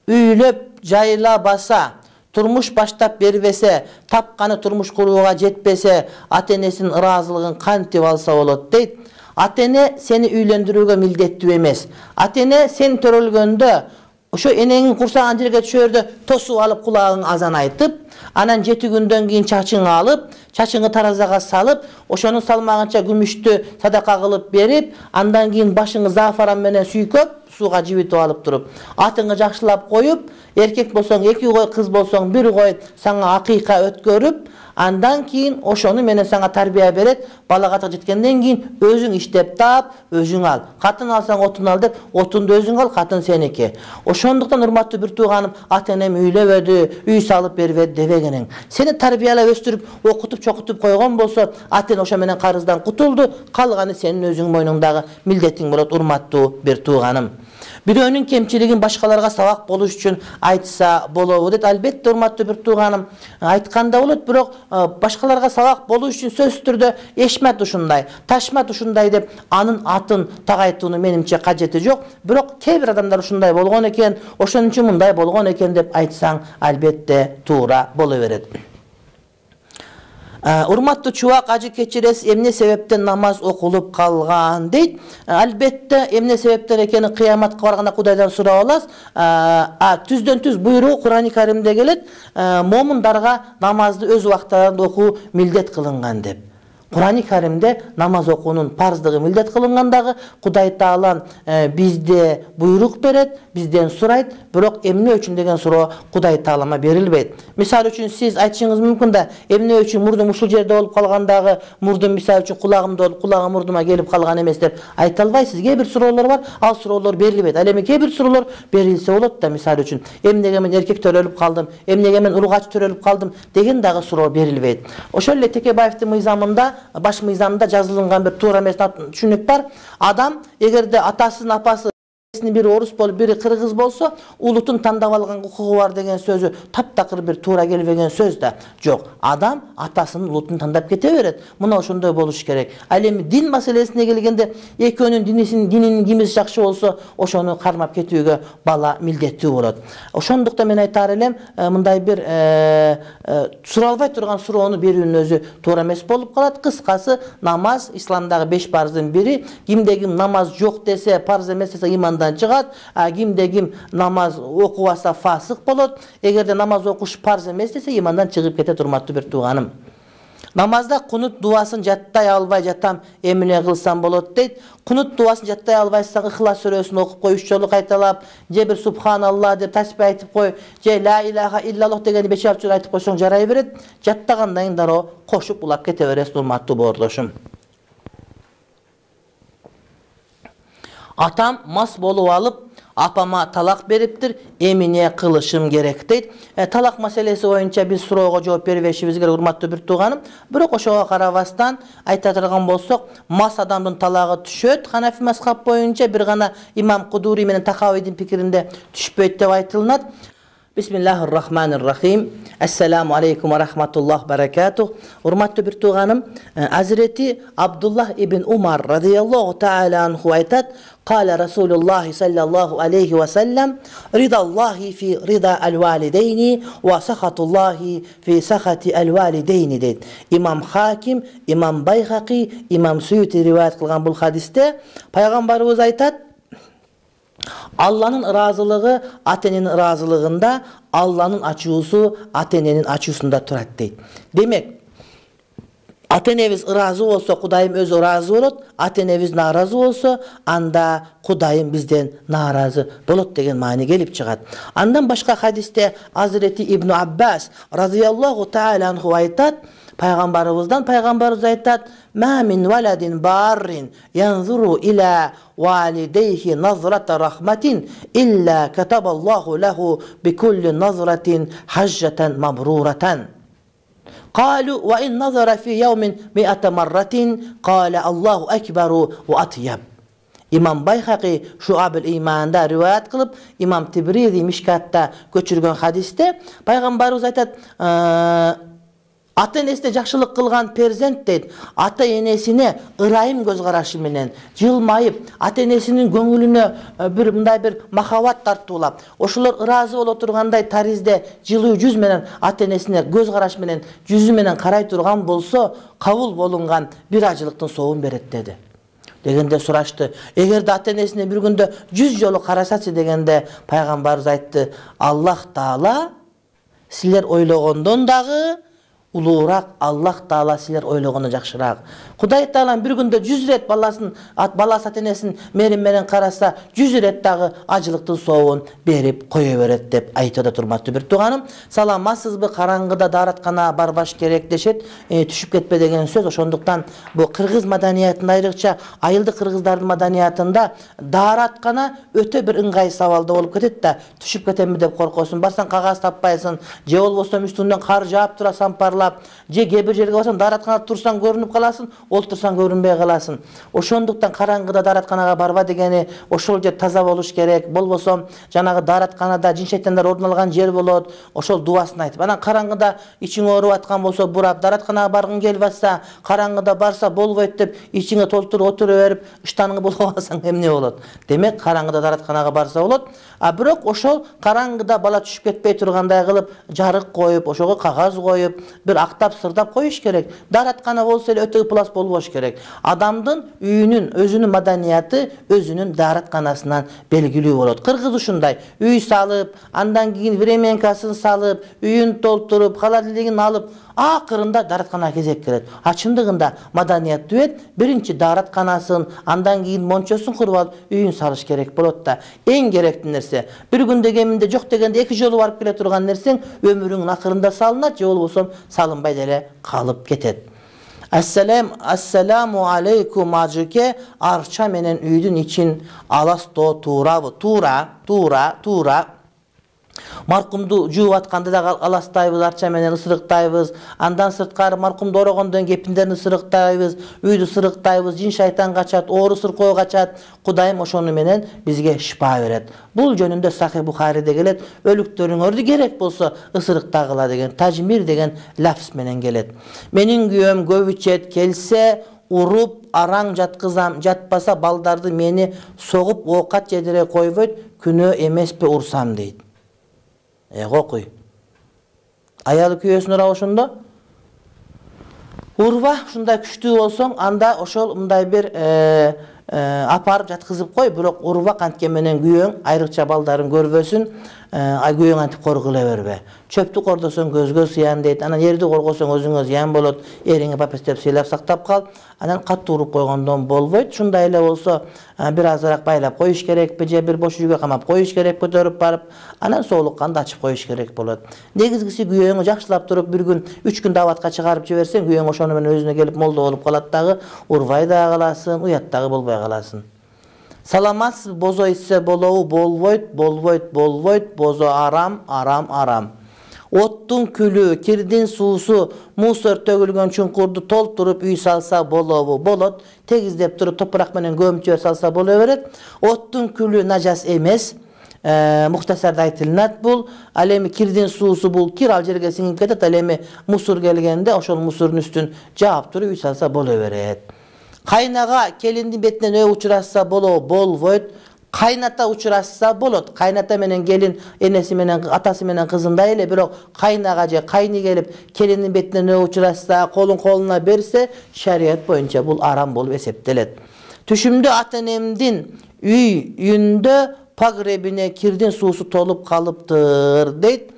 үйлөп жайлабаса, турмуш баштап бербесе, тапканы турмуш курууга жетпесе, ата-энесинин ыраазылыгын кантип алса болот дейт. Ата-эне сени үйлөндүрүүгө милдеттүү эмес. Ата-эне сен төрөлгөндө ошо энеңин курсаган жерге түшөрдө тосуп алып кулагың азан айтып, анан 7 күндөн кийин чачыңы алып, чачыңы таразага салып, ошонун салмагынча күмүштү садака кылып берип, андан кийин башыңы зафаран менен сүйкөп, сууга жибитип алып туруп, атыңы жакшылап коюп, эркек болсоң 2 кой, кыз болсоң 1 кой сага акыйка өткөрүп, андан кийин ошону менен сага тарбия берет. Балага жеткенден кийин өзүң иштеп таап, өзүң ал. Катын алсаң отун ал деп, отунду өзүң ал, катын сеники. Ошондуктан урматтуу бир тууганым, ата-энем үйлөбөдү, үй салып бербеди дебегениң. Сени тарбиялап өстүрүп, окутуп, чокутуп койгон болсо, ата-эне ошо менен карыздан кутулду, калганы сенин өзүң мойнуңдагы милдетиң болот, урматтуу бир тууганым. Бирөөнүн кемчилигин башкаларга сабак болуш үчүн айтса болобу дейт. Албетте, урматтуу бир тууганым, айтканда болот, бирок башкаларга сабак болуш үчүн сөзсүз түрдө Эшмет ушундай, Ташмат ушундай деп анын атын тагайтууну менимче кажети жок. Бирок кээ бир адамдар ушундай болгон экен, ошон үчүн мындай болгон экен деп айтсаң, албетте туура боло берет. Урматтуу чубак, ажы кечиресиз, эмне себептен намаз окулуп калган дейт. Албетте эмне себептен экени кыяматка барганда Кудайдан сурап аласыз. Түздөн түз буйругу Кур'ан-ы Каримде келет, момундарга намазды өз убактарында окуу милдет кылынган деп. Кур'ан-ы Каримде намаз окуунун парздыгы милдет кылынгандагы Кудай Таалам бизде буйрук берет, бизден сурайт, бирок эмне үчүн деген суроо Кудай Таалама берилбейт. Мисалы үчүн сиз айтышыңыз мүмкүн да, эмне үчүн мурдум ушул жерде болуп калгандагы мурдум мисалы үчүн кулагымда болуп, кулагым мурдума келип калган эмес деп айта албайсыз. Кээ бир суроолор бар, ал суроолор берилбейт. Ал эми кээ бир суроолор берилсе болот да, мисалы үчүн эмнеге мен эркек төрөлүп калдым, эмнеге мен ургач төрөлүп калдым деген дагы суроо берилбейт. Ошол эле Текебаевдин мыйзамында, баш мыйзамында жазылган бир туура эмес түшүнүк бар. Адам эгерде атасынын апасы маселесин бири орус болуп, бири кыргыз болсо, улутун тандап алган укугу бар деген сөзү таптакыр бир туура келбеген сөз да жок. Адам атасынын улутун тандап кете берет. Мына ошондой болуш керек. Ал эми дин маселесине келгенде, экөөнүн дининин кимиси жакшы болсо, ошону кармап кетүүгө бала милдеттүү болот. Ошондуктан мен айтар элем, мындай бир суралбай турган суроону берүүнүн өзү туура эмес болуп калат. Кыскасы, намаз исламдагы 5 парздын бири. Кимде ким намаз жок десе, парз эмес десе имандан чыгат. Кимде ким намаз окубаса фасык болот. Эгерде намаз окуш парз эмес десе, имандан чыгып кетет, урматтуу бир тууганым. Намазда кунут дуасын жаттай албай жатам, эмне кылсам болот дейт. Кунут дуасын жаттай албайсаң, Ихлас сүрөсүн окуп кой, 3 жолу кайталап, же бир субханалла деп тасбих айтып кой, же ла илаха иллаллах дегенди 5-6 жолу айтып койсоң жарай берет. Жаттагандан кийин дароо кошуп улап кете бересиң, урматтуу боордошум. Атам мас болуп алып, апама талак бериптир, эмне кылышым керек дейт. Талак маселеси боюнча биз суроого жооп берип беришибиз керек, урматтуу бир тууганым. Бирок ошого карабастан айта турган болсок, мас адамдын талагы түшөт. Ханафи мазхаб боюнча бир гана имам Кудури менен Тахавийдин пикиринде түшпөйт деп айтылат. Бисмиллахир-рахманир-рахим. Ассаламу алейкум ва рахматуллах баракатух. Урматтуу бир тууганым, Азирети Абдуллах ибн Умар радияллаху таала анху айтат: "Кала Расулуллах саллаллаху алейхи ва саллям, ридаллахи фи рида ал-валидейни ва сахатуллахи фи сахати ал-валидейни" дейт. Имам Хаким, Имам Байхақи, Имам Суюти риваят кылган бул хадисте пайгамбарыбыз айтат: Алланын ыраазылыгы ата-эненин ыраазылыгында, Алланын ачуусу ата-эненин ачуусунда турат дейт. Демек, ата-энебиз ыраазы болсо, Кудайым өзү ыраазы болот. Ата-энебиз нааразы болсо, анда Кудайым бизден нааразы болот деген маани келип чыгат. Андан башка хадисте Азирети Ибн Аббас радияллаху таала анху айтат, пайгамбарыбыз айтат: "Ма мин валадин баррин янзуру ила валидейхи назрата рахматин илля катабаллаху лаху бикулли назратин хаджатан мабруратан. Калу ва ин назара фи яумин миата марратин, кала Аллаху акбару ва атьяб." Имам Байхақи Шуабул Иманда риваят кылып, Имам Тибризи Мишкатта көчүргөн хадисте пайгамбарыбыз айтат: ата-энесине жакшылык кылган перзент дейт, ата-энесине ырайым көз карашы менен жылмайып, ата-энесинин көңүлүнө бир мындай бир махаббат тартуулап, ошолор ыраазы боло тургандай таризде жылуу жүз менен ата-энесине көз караш менен жүзү менен карай турган болсо, кабыл болунган бир ажылыктын соовун берет деди. Дегенде сурашты: "Эгерде ата-энесине бир күндө 100 жолу карасачы" дегенде пайгамбарыбыз айтты: "Аллах Таала силер ойлогондон дагы улуураак, Аллах Таала силер ойлогондон жакшыраак. Кудай Таала бир күндө 100 рет баласы ата-энесин мээрим менен караса, 100 рет дагы ажылыктын соовун берип кое берет" деп айтып турматтуу бир тууганым. Саламатсызбы, караңгыда дааратканага барбаш керек дешет, түшүп кетпе деген сөз. Ошондуктан бул кыргыз маданиятында, айрыкча айылдык кыргыздардын маданиятында даараткана өтө бир ыңгай сабалда болуп кетет да, түшүп кетемби деп коркосуң. Барсаң кагаз таппайсың, же болбосо үстүнөн кар жаап тура сампарлап, же кээ бир жерге барсаң дааратканада турсаң көрүнүп каласың, олтурсаң көрүнбөй каласың. Ошондуктан караңгыда дааратканага барба дегени ошол жер таза болуш керек. Болбосо жанагы дааратканада жин шайтандар ордун алган жер болот. Ошол дубасын айтып, анан караңгыда ичиң ооруп аткан болсо, бурап дааратканага баргың келип атса, караңгыда барса болбойт деп ичиңе толтуруп отура берип, ыштаныңы болуп алсаң эмне болот? Демек, караңгыда дааратканага барса болот. Бирок ошол караңгыда бала түшүп кетпей тургандай кылып, жарык коюп, ошого кагаз коюп, бир актап сырдап коюш керек. Даараткана болсо эле өтө плас болбош керек. Адамдын үйүнүн, өзүнүн маданияты өзүнүн дааратканасынан белгилүү болот. Кыргыз ушундай: үй салып, андан кийин временкасын салып, үйүн толтуруп, холодильнигин алып, акырында дааратканага кезек келет. Чындыгында маданияттуу эт биринчи дааратканасын, андан кийин мончосун куруп алып, үйүн салыш керек болот да. Эң керектүү нерсе, бир күндө кеминде жок дегенде 2 жолу барып келе турган нерсең өмүрүңүн акырында салынат, же болбосо салынбай деле калып кетет. Ассаламу алейкум ажыке, арча менен үйдүн ичин аластоо туурабы? Туура. Маркумду жууп атканда да аластайбыз, арча менен ысырыктайбыз. Андан сырткары маркумду орогондон кепиндерин ысырыктайбыз, үйдү ысырыктайбыз, жин шайтан качат, оору сыркоо качат. Кудайым ошону менен бизге шифа берет. Бул жөнүндө Сахih Бухариде келет. Өлүктөрүңөрдү керек болсо ысырыктагыла деген, тажмир деген лафз менен келет. Менин күйөөм көп ичет, келсе уруп, араң жаткызам, жатпаса балдарды мени согуп оокат жедире койбойт, күнөө эмеспи урсам дейт. Кокуй. Аялы күйөөсүн урап ошондо урба, ушундай күчтүү болсоң, анда ошол мындай бир апарып жаткызып кой, бирок урба канткен менен күйөөң айрыкча балдарын көрбөсүн, күйөөң антип коргулай бербе. Чөптү кордосоң көзгө зыян дейт. Анан эрди коргосоң өзүңө зыян болот. Эриңе папестеп сыйлап сактап кал. Анан катуу уруп койгондон болбойт. Ушундай эле болсо, бир азыраак байлап коюш керекпи, же бир бош үйгө камап коюш керек, көтөрүп барып, анан соолукканды ачып коюш керек болот. Негизгиси күйөөңү жакшылап туруп, бир күн, 3 күн даватка чыгарып жиберсең, күйөөң ошону менен өзүнө келип молдо болуп калат дагы, урбай да каласың, уят дагы болбой каласың. Саламатсыз, бозо ичсе болобу? Болбойт, болбойт, болбойт, бозо арам, арам, арам. Оттун күлү, кирдин суусу, мусор төгүлгөн чуңкурду толтуруп үй салса болобу? Болот. Тегиздеп туруп топурак менен көмүп жибер салса боло берет. Оттун күлү нажас эмес. Мухтасарда айтылат бул. Ал эми кирдин суусу бул кир ал жерге сиңип кетет. Ал эми мусор келгенде ошол мусордун үстүн жаап туруп үй салса боло берет. Кайнага келиндин бетинен өө учурашса болобу? Болбойт. Кайната учурашса болот. Кайната менен келин энеси менен атасы менен кызындай эле, бирок кайнага же кайны келип келиндин бетинен өө учурашса, колун колуна берсе, шарият боюнча бул арам болуп эсептелет. Түшүмдө ата-энемдин үйүндө погребине кирдин суусу толуп калыптыр дейт.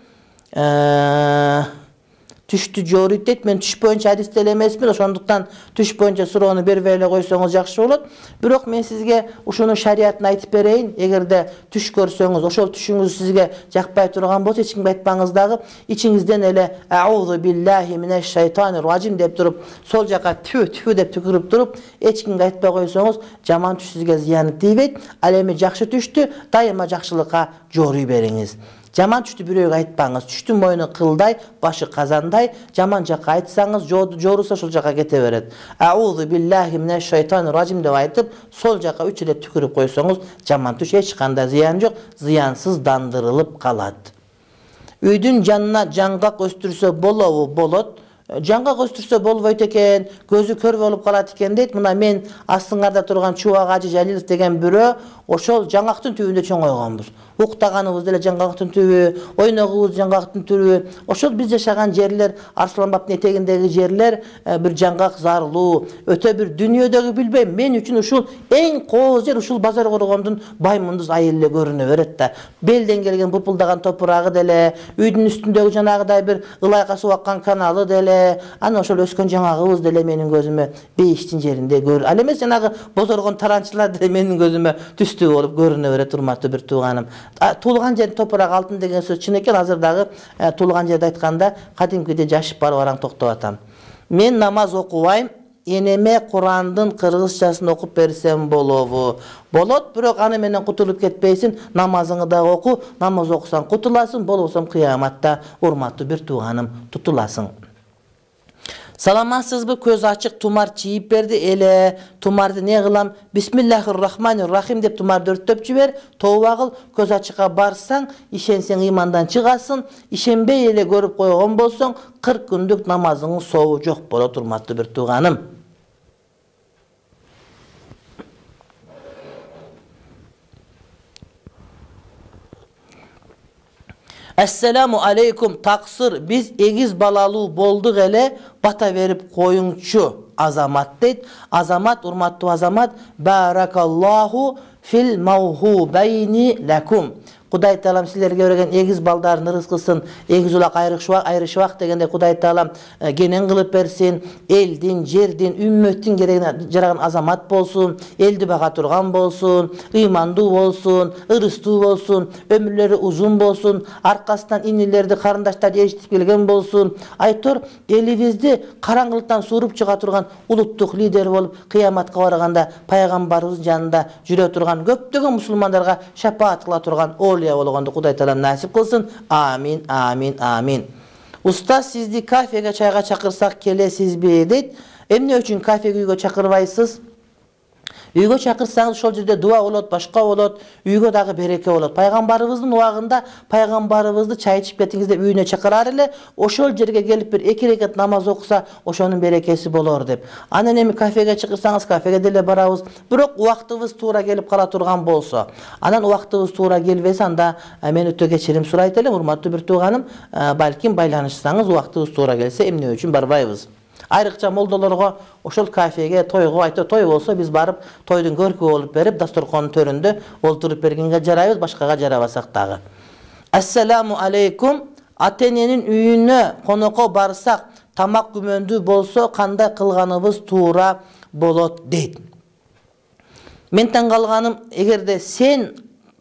Түштү жорuyт дейт. Мен түш боюнча адисте эле эмесмин, ошондуктан түш боюнча суроону бербей эле койсоңуз жакшы болот. Бирок мен сизге ушунун шариятын айтып берейин. Эгерде түш көрсөңүз, ошол түшүңүз сизге жакпай турган болсо, эч кимге айтпаңыз дагы, ичиңизден эле аузу биллахи минеш шайтанир ражим деп туруп, сол жака тфү деп түкүрүп туруп, эч кимге айтпай койсоңуз, жаман түш сизге зыяны тийбейт. Ал эми жакшы түштү дайыма жакшылыкка жоруй бериңиз. Жаман түштү бирөөгө айтпаңыз. Түштүн мойну кылдай, башы казандай. Жаман жакка айтсаңыз, жоруса ошол жака кете берет. Аузу биллахи минеш шайтанир ражим деп айтып, сол жака 3 эле түкүрүп койсоңуз, жаман түш эч кандай зыян жок, зыянсыздандырылып калат. Үйдүн жанына жаңгак өстүрсө болобу? Болот. Жаңгак өстүрсө болбойт экен, көзү көр болуп калат экен дейт. Мына мен астыңарда турган Чубак Ажы Жалилов деген бирөө ошол жаңгактын түбүндө чоңойгонбуз. Уктаганыбыз деле жаңгактын түбү, ойногубуз жаңгактын түбү. Ошол биз жашаган жерлер, Арслан бабтын этегиндеги жерлер бир жаңгак зарлуу, өтө бир дүйнөдөгү билбейм, мен үчүн ушул эң кооз жер ушул базар коргондун Баймундуз айыл эле көрүнө берет да. Белден келген бурпулдаган топурагы деле, үйдүн үстүндөгү жанагыдай бир ылайка суу аккан каналы деле, ана ошол өскөн жаңагыбыз деле менин көзүмө бейиштин жеринде көр. Ал эмес жанагы бозоргон таранчылар деле менин көзүмө түстүү болуп көрүнө берет, урматтуу бир тууганым. Туулган жер топурак алтын деген сөз чын экен. Азыр дагы туулган жерди айтканда кадимкиде жашып барып араң токтоп атам. Мен намаз окубайм, энеме Курандын кыргызчасын окуп берсем болобу? Болот, бирок аны менен кутулуп кетпейсиң, намазыңды да оку, намаз окусаң кутуласың, болбосом кыяматта, урматтуу бир тууганым, тутуласың. Саламатсызбы? Көз ачык тумар чийип берди эле. Тумарды не кылам? Бисмиллахир-рахманир-рахим деп тумарды өрттөп жибер. Тооба кыл, көз ачыкка барсаң, ишенсең имандан чыгасың. Ишенбей эле көрүп койгон болсоң, 40 күндүк намазыңдын сообу жок болот, урматтуу бир тууганым. Ассаламу алейкум, таксыр, биз эгиз балалуу болдук эле, бата берип коюңчу. Азамат дейт. Азамат, урматтуу Азамат, баракаллаху фил маухубайни лакум. Кудай таалам силерге берген эгиз балдардын рызкысын эгиз улак айрышыбак дегенде Кудай таалам кенен кылып берсин, элдин, жердин, үммөттүн керегине жараган азамат болсун, элди бага турган болсун, ыймандуу болсун, ырыстуу болсун, өмүрлөрү узун болсун, аркасынан инилерди, карындаштарды эжитип келген болсун. Айтор элибизди караңгылыктан сууруп чыга турган улуттук лидер болуп, кыяматка барганда пайгамбарыбыздын жанында жүрө турган, көптөгөн мусулмандарга шапаат кыла турган олия болгонду Кудай Таала насип кылсын. Амин, амин, амин. Устаз, сизди кафеге, чайга чакырсак келесизби дейт. Эмне үчүн кафеге, үйгө чакырбайсыз? Үйгө чакырсаңыз ошол жерде дуа болот, башка болот, үйгө дагы береке болот. Пайгамбарыбыздын убагында пайгамбарыбызды чай ичип кетиңиз деп үйүнө чакырар эле, ошол жерге келип бир 2 рекат намаз окуса, ошонун берекеси болор деп. Анан эми кафеге чакырсаңыз, кафеге деле барабыз. Бирок убактыбыз туура келип кала турган болсо, анан убактыбыз туура келбесе, анда мен өтө кечирим сурайт элем, урматтуу бир тууганым, балким байланышсаңыз, убактыбыз туура келсе, эмне үчүн барбайбыз? Айрыкча молдолорго ошол кафеге, тойго, айта той болсо биз барып тойдун көркү болуп берип, дасторконун төрүндө олтуруп бергенге жарайбыз, башкага жарабасак дагы. Ассаламу алейкум. Ата-эненин үйүнө конокко барсак, тамак күмөндүү болсо кандай кылганыбыз туура болот дейт. Мен таң калганым, эгерде сен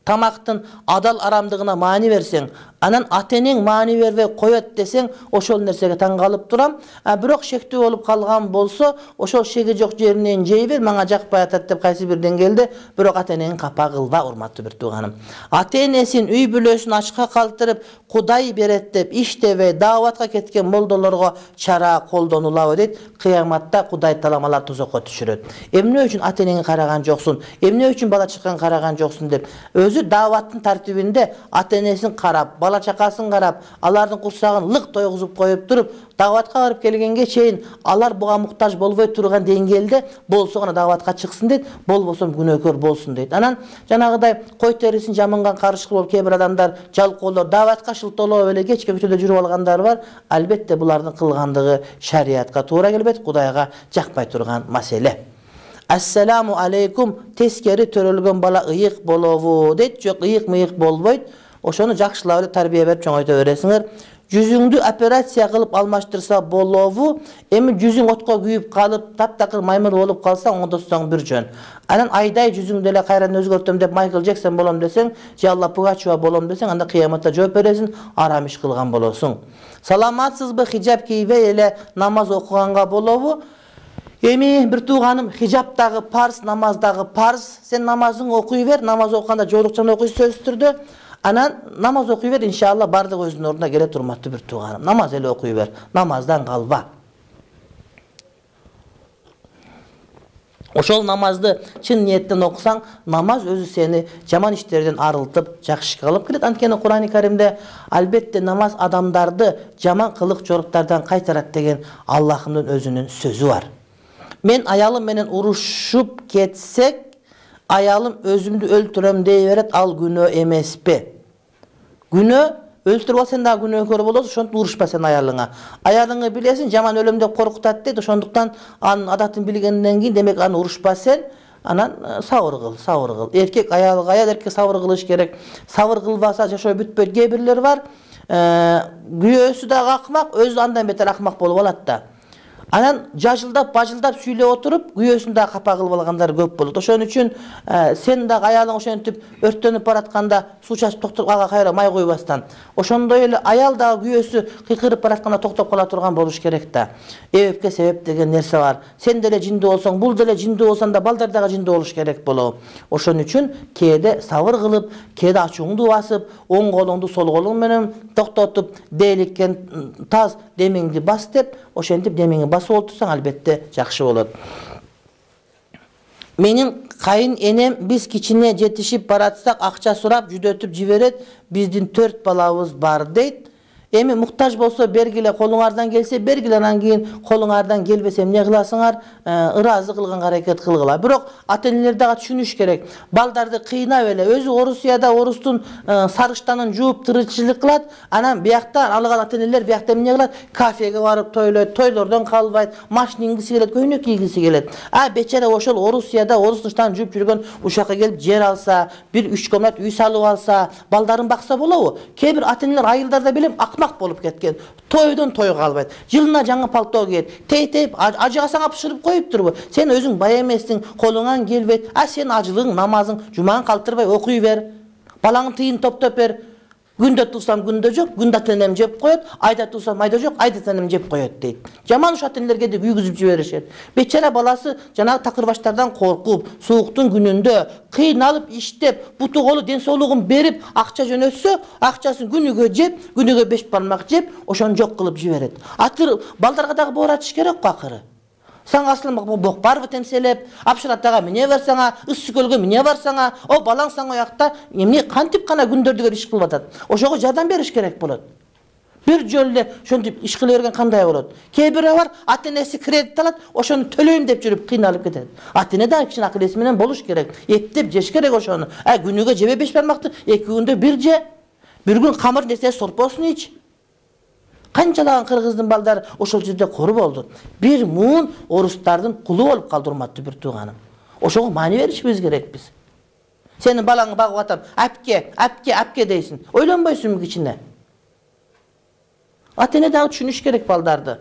тамактын адал арамдыгына маани берсең, анан ата-энең маани бербей коет десең, ошол нерсеге таң калып турам. Бирок шектүү болуп калган болсо, ошол шеги жок жеринен жей бер, мага жакпай атат деп кайсы бир деңгээлде, бирок ата-энеңи капа кылба, урматтуу бир тууганым. Ата-энесин үй бүлөсүн ачка калтырып, Кудай берет деп иштебей дааватка кеткен молдолорго чара колдонулабы дейт. Кыяматта Кудай Таала алар тозокко түшүрөт. Эмне үчүн ата-энеңи караган жоксуң? Эмне үчүн бала чакаң караган жоксуң деп. Өзү дааваттын тартибинде ата-энесин карап, бала чакасын карап, алардын курсагын лык тойгузуп коюп туруп, дааватка барып келгенге чейин алар буга муктаж болбой турган деңгээлде болсо гана дааватка чыксын дейт, болбосо күнөөкөр болсун дейт. Анан жанагыдай кой терисин жаманган карышкы болуп кээ бир адамдар, жалкоолор дааватка шылтоолоп эле кечке көчөдө жүрүп алгандар бар. Албетте булардын кылгандыгы шариатка туура келбейт, Кудайга жакпай турган маселе. Ассаламу алейкум. Тескери төрөлгөн бала ыйык болобу дейт. Жок, ыйык-мыйык болбойт. Ошону жакшылап эле тарбия берип чоңойто бересиңер. Жүзүңдү операция кылып алмаштырса болобу? Эми жүзүң отко күйүп калып, таптакыр маймыл болуп калса, оңдотсоң бир жөн. Анан айдай жүзүңдү эле кайрадан өзгөртөм деп Майкл Джексон болом десең, же Алла Пугачева болом десең, анда кыяматта жооп бересиң, арам иш кылган болосуң. Саламатсызбы? Хижап кийбей эле намаз окуганга болобу? Эми бир тууганым, хижап дагы парз, намаз дагы парз. Сен намазың окуй бер, намаз окуганда жоолукчан окуйсуң сөзсүз түрдө. Анан намаз окуй бер, иншалла бардык өзүнүн ордуна келет, урматтуу бир тууганым. Намаз эле окуй бер, намаздан калба. Ошол намазды чын ниеттен окусаң, намаз өзү сени жаман иштерден арылтып, жакшы кылып келет. Анткени Кур'ан-ы Каримде албетте намаз адамдарды жаман кылык жоруктардан кайтарат деген Аллахымдын өзүнүн сөзү бар. Мен аялым менен урушуп кетсек, аялым өзүмдү өлтүрөм дей берет, ал күнөө эмеспи? Күнөө, өлтүрүп ал сен дагы күнөөкөр болосуң, ошентип урушпа сен аялыңа. Аялыңы билесиң, жаман өлөм деп коркутат дейт, ошондуктан анын адатын билгенден кийин, демек аны урушпа сен, анан сабыр кыл, сабыр кыл. Эркек аялга, аял эркекке сабыр кылыш керек. Сабыр кылбаса жашоо бүтпөйт. Кээ бирлер бар, күйөөсү дагы акмак, өзү андан бетер акмак болуп алат да. Анан жажылдап, бажылдап сүйлөп отуруп, күйөөсүн дагы капа кылып алгандар көп болот. Ошон үчүн сен дагы аялың ошентип өрттөнүп баратканда суу чачып токтоп ага кайра май куйбастан, ошондой эле аял дагы күйөөсү кыйкырып баратканда токтоп кала турган болуш керек да. Эбепке себеп деген нерсе бар. Сен деле жиндүү болсоң, бул деле жиндүү болсоң да балдар дагы жиндүү болуш керек болобу. Ошон үчүн кээде сабыр кылып, кээде ачууңду басып, оң колуңду сол колуң менен токтотуп, дейликкен таз демиңди бас деп, ошентип демиңди басып отурсаң, албетте жакшы болот. Менин кайын энем биз кичине жетишип баратсак акча сурап жүдөтүп жиберет. Биздин 4 балабыз бар дейт. Эми муктаж болсо бергиле, колуңардан келсе бергиле, анан кийин колуңардан келбесе эмне кыласыңар? Ыраазы кылганга аракет кылгыла. Бирок ата-энелер дагы түшүнүш керек. Балдарды кыйнап эле, өзү Орусияда орустун сарыштанын жууп тырычлык кылат, анан бияктан алган ата-энелер биякта эмне кылат? Кафеге барып тойлойт, тойлордон калбайт, машина мингиси келет, көйнөк кийгиси келет. Бечара ошол Орусияда орус тыштан жууп жүргөн ушакка келип жер алса, бир 3 комнат үй салып алса, балдарын бакса болобу? Кээ бир ата-энелер айылдарда билем болуп кеткен. Тойдон тойго албайт. Жылына жаңы пальто кийет. Тейтеп, ажыгасаң бышырып коюптурбу? Сен өзүң бай эмессиң, колуңан келбейт. Сен ажылыгың, намазың, жумаң калтырбай окуй бер. Балаңын тыйын топтоп бер. Күндө туусам күндө жок, күндө ата-энем жеп коет, айда туусам айда жок, айда ата-энем жеп коет дейт. Жаман ушат энелерге деп үйгүзүп жиберишет. Бечара баласы жанагы такырбаштардан коркуп, сууктун күнүндө кыйналып иштеп, буту колу ден соолугун берип, акча жөнөтсө, акчасын күнүгө жеп, күнүгө 5 бармак жеп, ошону жок кылып жиберет. Атыр балдарга дагы бооратыш керек го акыры. Саң асылым бок барбы темселеп, апшыратага мине барсаңа, ыссы көлгө мине барсаңа, о балаң саң оякта эмне кантип гана күндөрдүгөр иш кылып атат. Ошого жардам бериш керек болот. Бир жолу эле ошентип иш кыла берген кандай болот? Кээ бирөө бар, ата-энеси кредит алат, ошону төлөйм деп жүрүп кыйналып кетет. Ата-эне да кичине акыл эси менен болуш керек. Эптеп жеш керек ошону. Күнүгө жебе 5 бармакты, 2 күндө бир же. Бир күн камыр нерсе сорпосун ич. Канчалаган кыргыздын балдары ошол жерде кор болду. Бир муун орустардын кулу болуп калды, урматтуу бир тууганым. Ошого маани беришибиз керек биз. Сенин балаңды багып атам, апке дейсиң. Ойлонбойсуңбу кичине? Ата-эне дагы түшүнүш керек балдарды.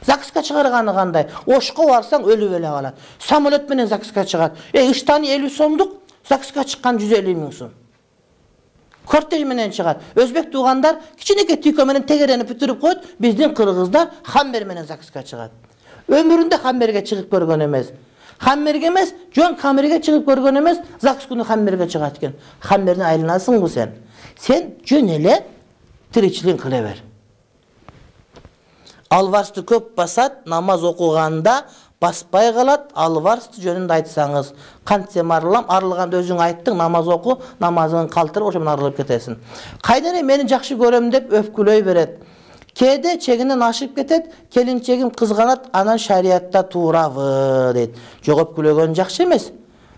ЗАГСка чыгарганы кандай? Ошко барсаң өлүп эле калат. Самолет менен ЗАГСка чыгат. Ыштаны 50 сомдук, ЗАГСка чыккан 150 миң сом. Кортеж менен чыгат. Өзбек туугандар кичинекей түйкө менен тегерени бүтүрүп коет, биздин кыргыздар хаммер менен ЗАГСка чыгат. Өмүрүндө хаммерге чыгып көргөн эмес. Хаммерге эмес, жон камерге чыгып көргөн эмес, ЗАГС күнү хаммерге чыгат экен. Хаммердин айланасыңбы сен? Сен жөн эле тиричилик кыла бер. Алварсты көп басат, намаз окуганда баспай калат, алварсты жөнүндө айтсаңыз. Кантсем арылганда өзүң айттың, намаз оку, намазыңды калтырып, ошо менен арылып кетесиң. Кайдене мени жакшы көрөм деп өпкүлөй берет. Кээде чегинен ашып кетет, келинчегим кызганат, анан шариятта туурабы дейт. Жок, өпкүлөгөн жакшы эмес.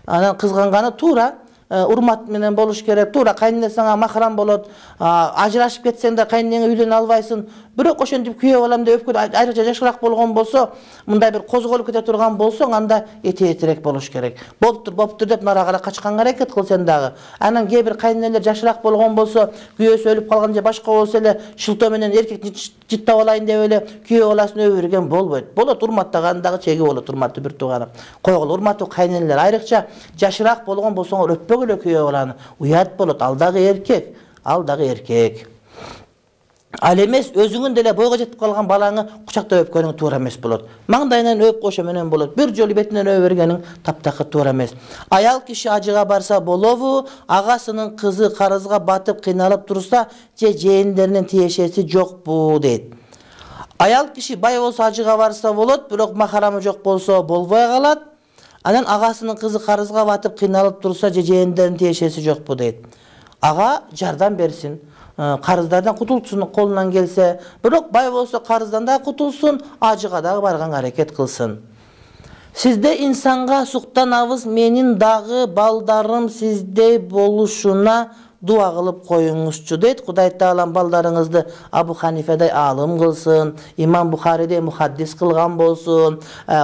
Анан кызганганы туура. Урмат менен болуш керек. Туура кайнене сага махрам болот. Ажырашып кетсең да кайненеңе үйлөнө албайсың. Бирок ошентип күйөө балам деп өпкүл айрыкча жашыраак болгон болсо, мындай бир козголуп кете турган болсоң, анда этиетирээк болуш керек. Болуптур деп нарагара качканга аракет кыл сен дагы. Анан кээ бир кайненелер жашыраак болгон болсо, күйөөсү өлүп калган же башка болсо эле шылтоо менен эркекти жыттап алайын деп эле күйөө баласын өбө берген болбойт. Болот, урматтаган дагы чеги болот, урматтуу бир тууганым. Койгула, урматтуу кайненелер, айрыкча жашыраак болгон болсоңор өппөгүлө күйөө баланы. Уят болот, ал дагы эркек, ал дагы эркек. Ал эмес өзүңүн деле бойго жетип калган балаңы кучактап өпкөнүң туура эмес болот. Маңдайынан өп, ошо менен болот. Бир жолу бетинен өбө бергениң таптакыр туура эмес. Аял киши ажыга барса болобу, агасынын кызы карызга батып кыйналып турса, же жээндеринин тиешеси жокпу дейт. Аял киши бай болсо ажыга барса болот, бирок махарамы жок болсо болбой калат. Анан агасынын кызы карызга батып кыйналып турса, же жээндеринин тиешеси жокпу дейт. Ага жардам берсин. Карыздардан кутулсун колунан келсе, бирок бай болсо карыздан да кутулсун, ажыга дагы барганга аракет кылсын. Сизде инсанга суктанабыз, менин дагы балдарым сиздей болушуна дуа кылып коюңузчу дейт. Кудай Таалам балдарыңызды Абу Ханифадай аалым кылсын, Имам Бухаридей мухаддис кылган болсун.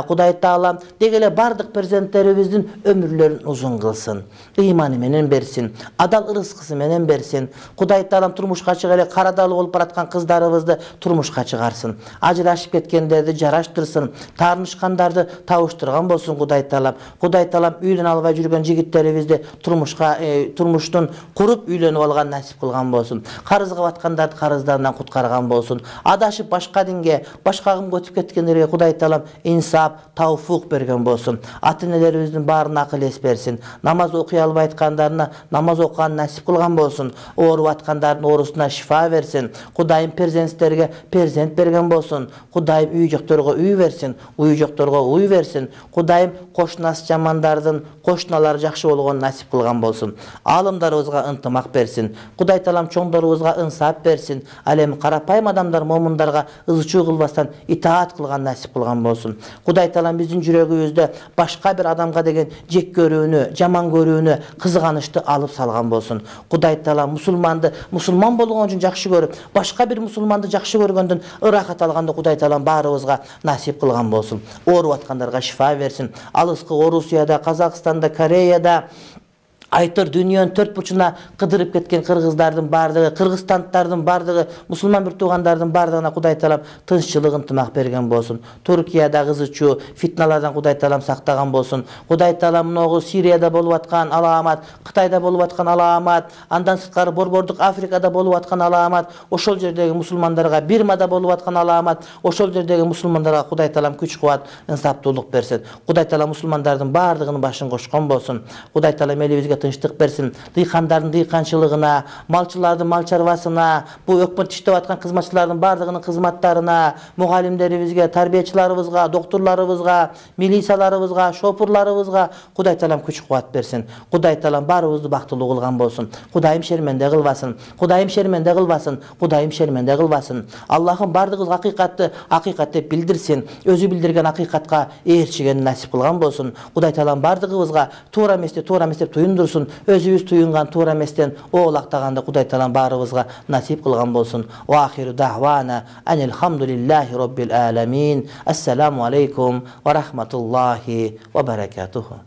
Кудай Таалам дегеле бардык перзенттерибиздин өмүрлөрүн узун кылсын. Ыйманы менен берсин, адал ырыскысы менен берсин. Кудай Таалам турмушка чыга эле карадалы болуп бараткан кыздарыбызды турмушка чыгарсын. Ажырашып кеткендерди жараштырсын, таарынышкандарды табыштырган болсун Кудай Таалам. Кудай Таалам үйлөнө албай жүргөн жигиттерибизди турмуштун куруп үйлөнүп алган насип кылган болсун. Карызга баткандарды карыздарынан куткарган болсун. Адашып башка динге, башка агымга өтүп кеткендерге Кудай Таалам инсап, тауфук берген болсун. Ата-энелерибиздин баарына акыл эс берсин. Намаз окуй албай аткандарына намаз окуган насип кылган болсун. Ооруп аткандардын оорусуна шифа берсин. Кудайым перзенттерге перзент берген болсун. Кудайым үй жокторго үй берсин, уй жокторго уй берсин. Кудайым кошунасы жамандардын кошуналары жакшы болгон насип кылган болсун. Аалымдарыбызга ынтымак берсин. Кудай Таалам чоңдорубузга ынсап берсин. Ал эми карапайым адамдар момундарга ызычуу кылбастан итаат кылган насип кылган болсун. Кудай Таалам биздин жүрөгүбүздө башка бир адамга деген жек көрүүнү, жаман көрүүнү, кызганычты алып салган болсун. Кудай Таалам мусулман болгон үчүн жакшы көрүп, башка бир мусулманды жакшы көргөндөн ырахат алганды Кудай Таалам баарыбызга насип кылган болсун. Ооруп аткандарга шифа берсин. Алыскы Орусияда, Казакстанда, Кореяда, Айтор дүйнөнүн төрт бурчуна кыдырып кеткен кыргыздардын бардыгы, кыргызстандардын бардыгы, мусулман бир туугандардын бардыгына Кудай Таалам тынччылык, ынтымак берген болсун. Туркияда кызычуу фитналардан Кудай Таалам сактаган болсун. Кудай Таалам могу Сирияда болуп аткан алаамат, Кытайда болуп аткан алаамат, андан сырткары Борбордук Африкада болуп аткан алаамат, ошол жердеги мусулмандарга, Бирмада болуп аткан алаамат, ошол жердеги мусулмандарга Кудай Таалам күч-кубат, инсаптуулук берсин. Кудай Таалам мусулмандардын бардыгынын башын кошкон болсун. Кудай Таалам элибизге тынчтык берсин. Дыйкандардын дыйканчылыгына, малчылардын мал чарбасына, бу өкмөт иштеп аткан кызматчылардын бардыгынын кызматтарына, мугалимдерибизге, тарбиячыларыбызга, доктурларыбызга, милицияларыбызга, шопурларыбызга Кудай Таалам күч-кубат берсин. Кудай Таалам баарыбызды бактылуу кылган болсун. Кудайым шерменде кылбасын. Кудайым шерменде кылбасын. Кудайым шерменде кылбасын. Аллахым бардыгыбызга акыйкатты акыйкат деп билдирсин. Өзү билдирген акыйкатка ээрчигени насип кылган болсун. Кудай Таалам бардыгыбызга туура эмес деп туюндурсун. Өзүбүз туюнган туура эместен оолактаганды Кудай Таалам баарыбызга насип кылган болсун. Ва ахиру дa'wana анил хамдулиллахи роббил аламин. Ассаламу алейкум ва рахматуллахи ва баракатуху.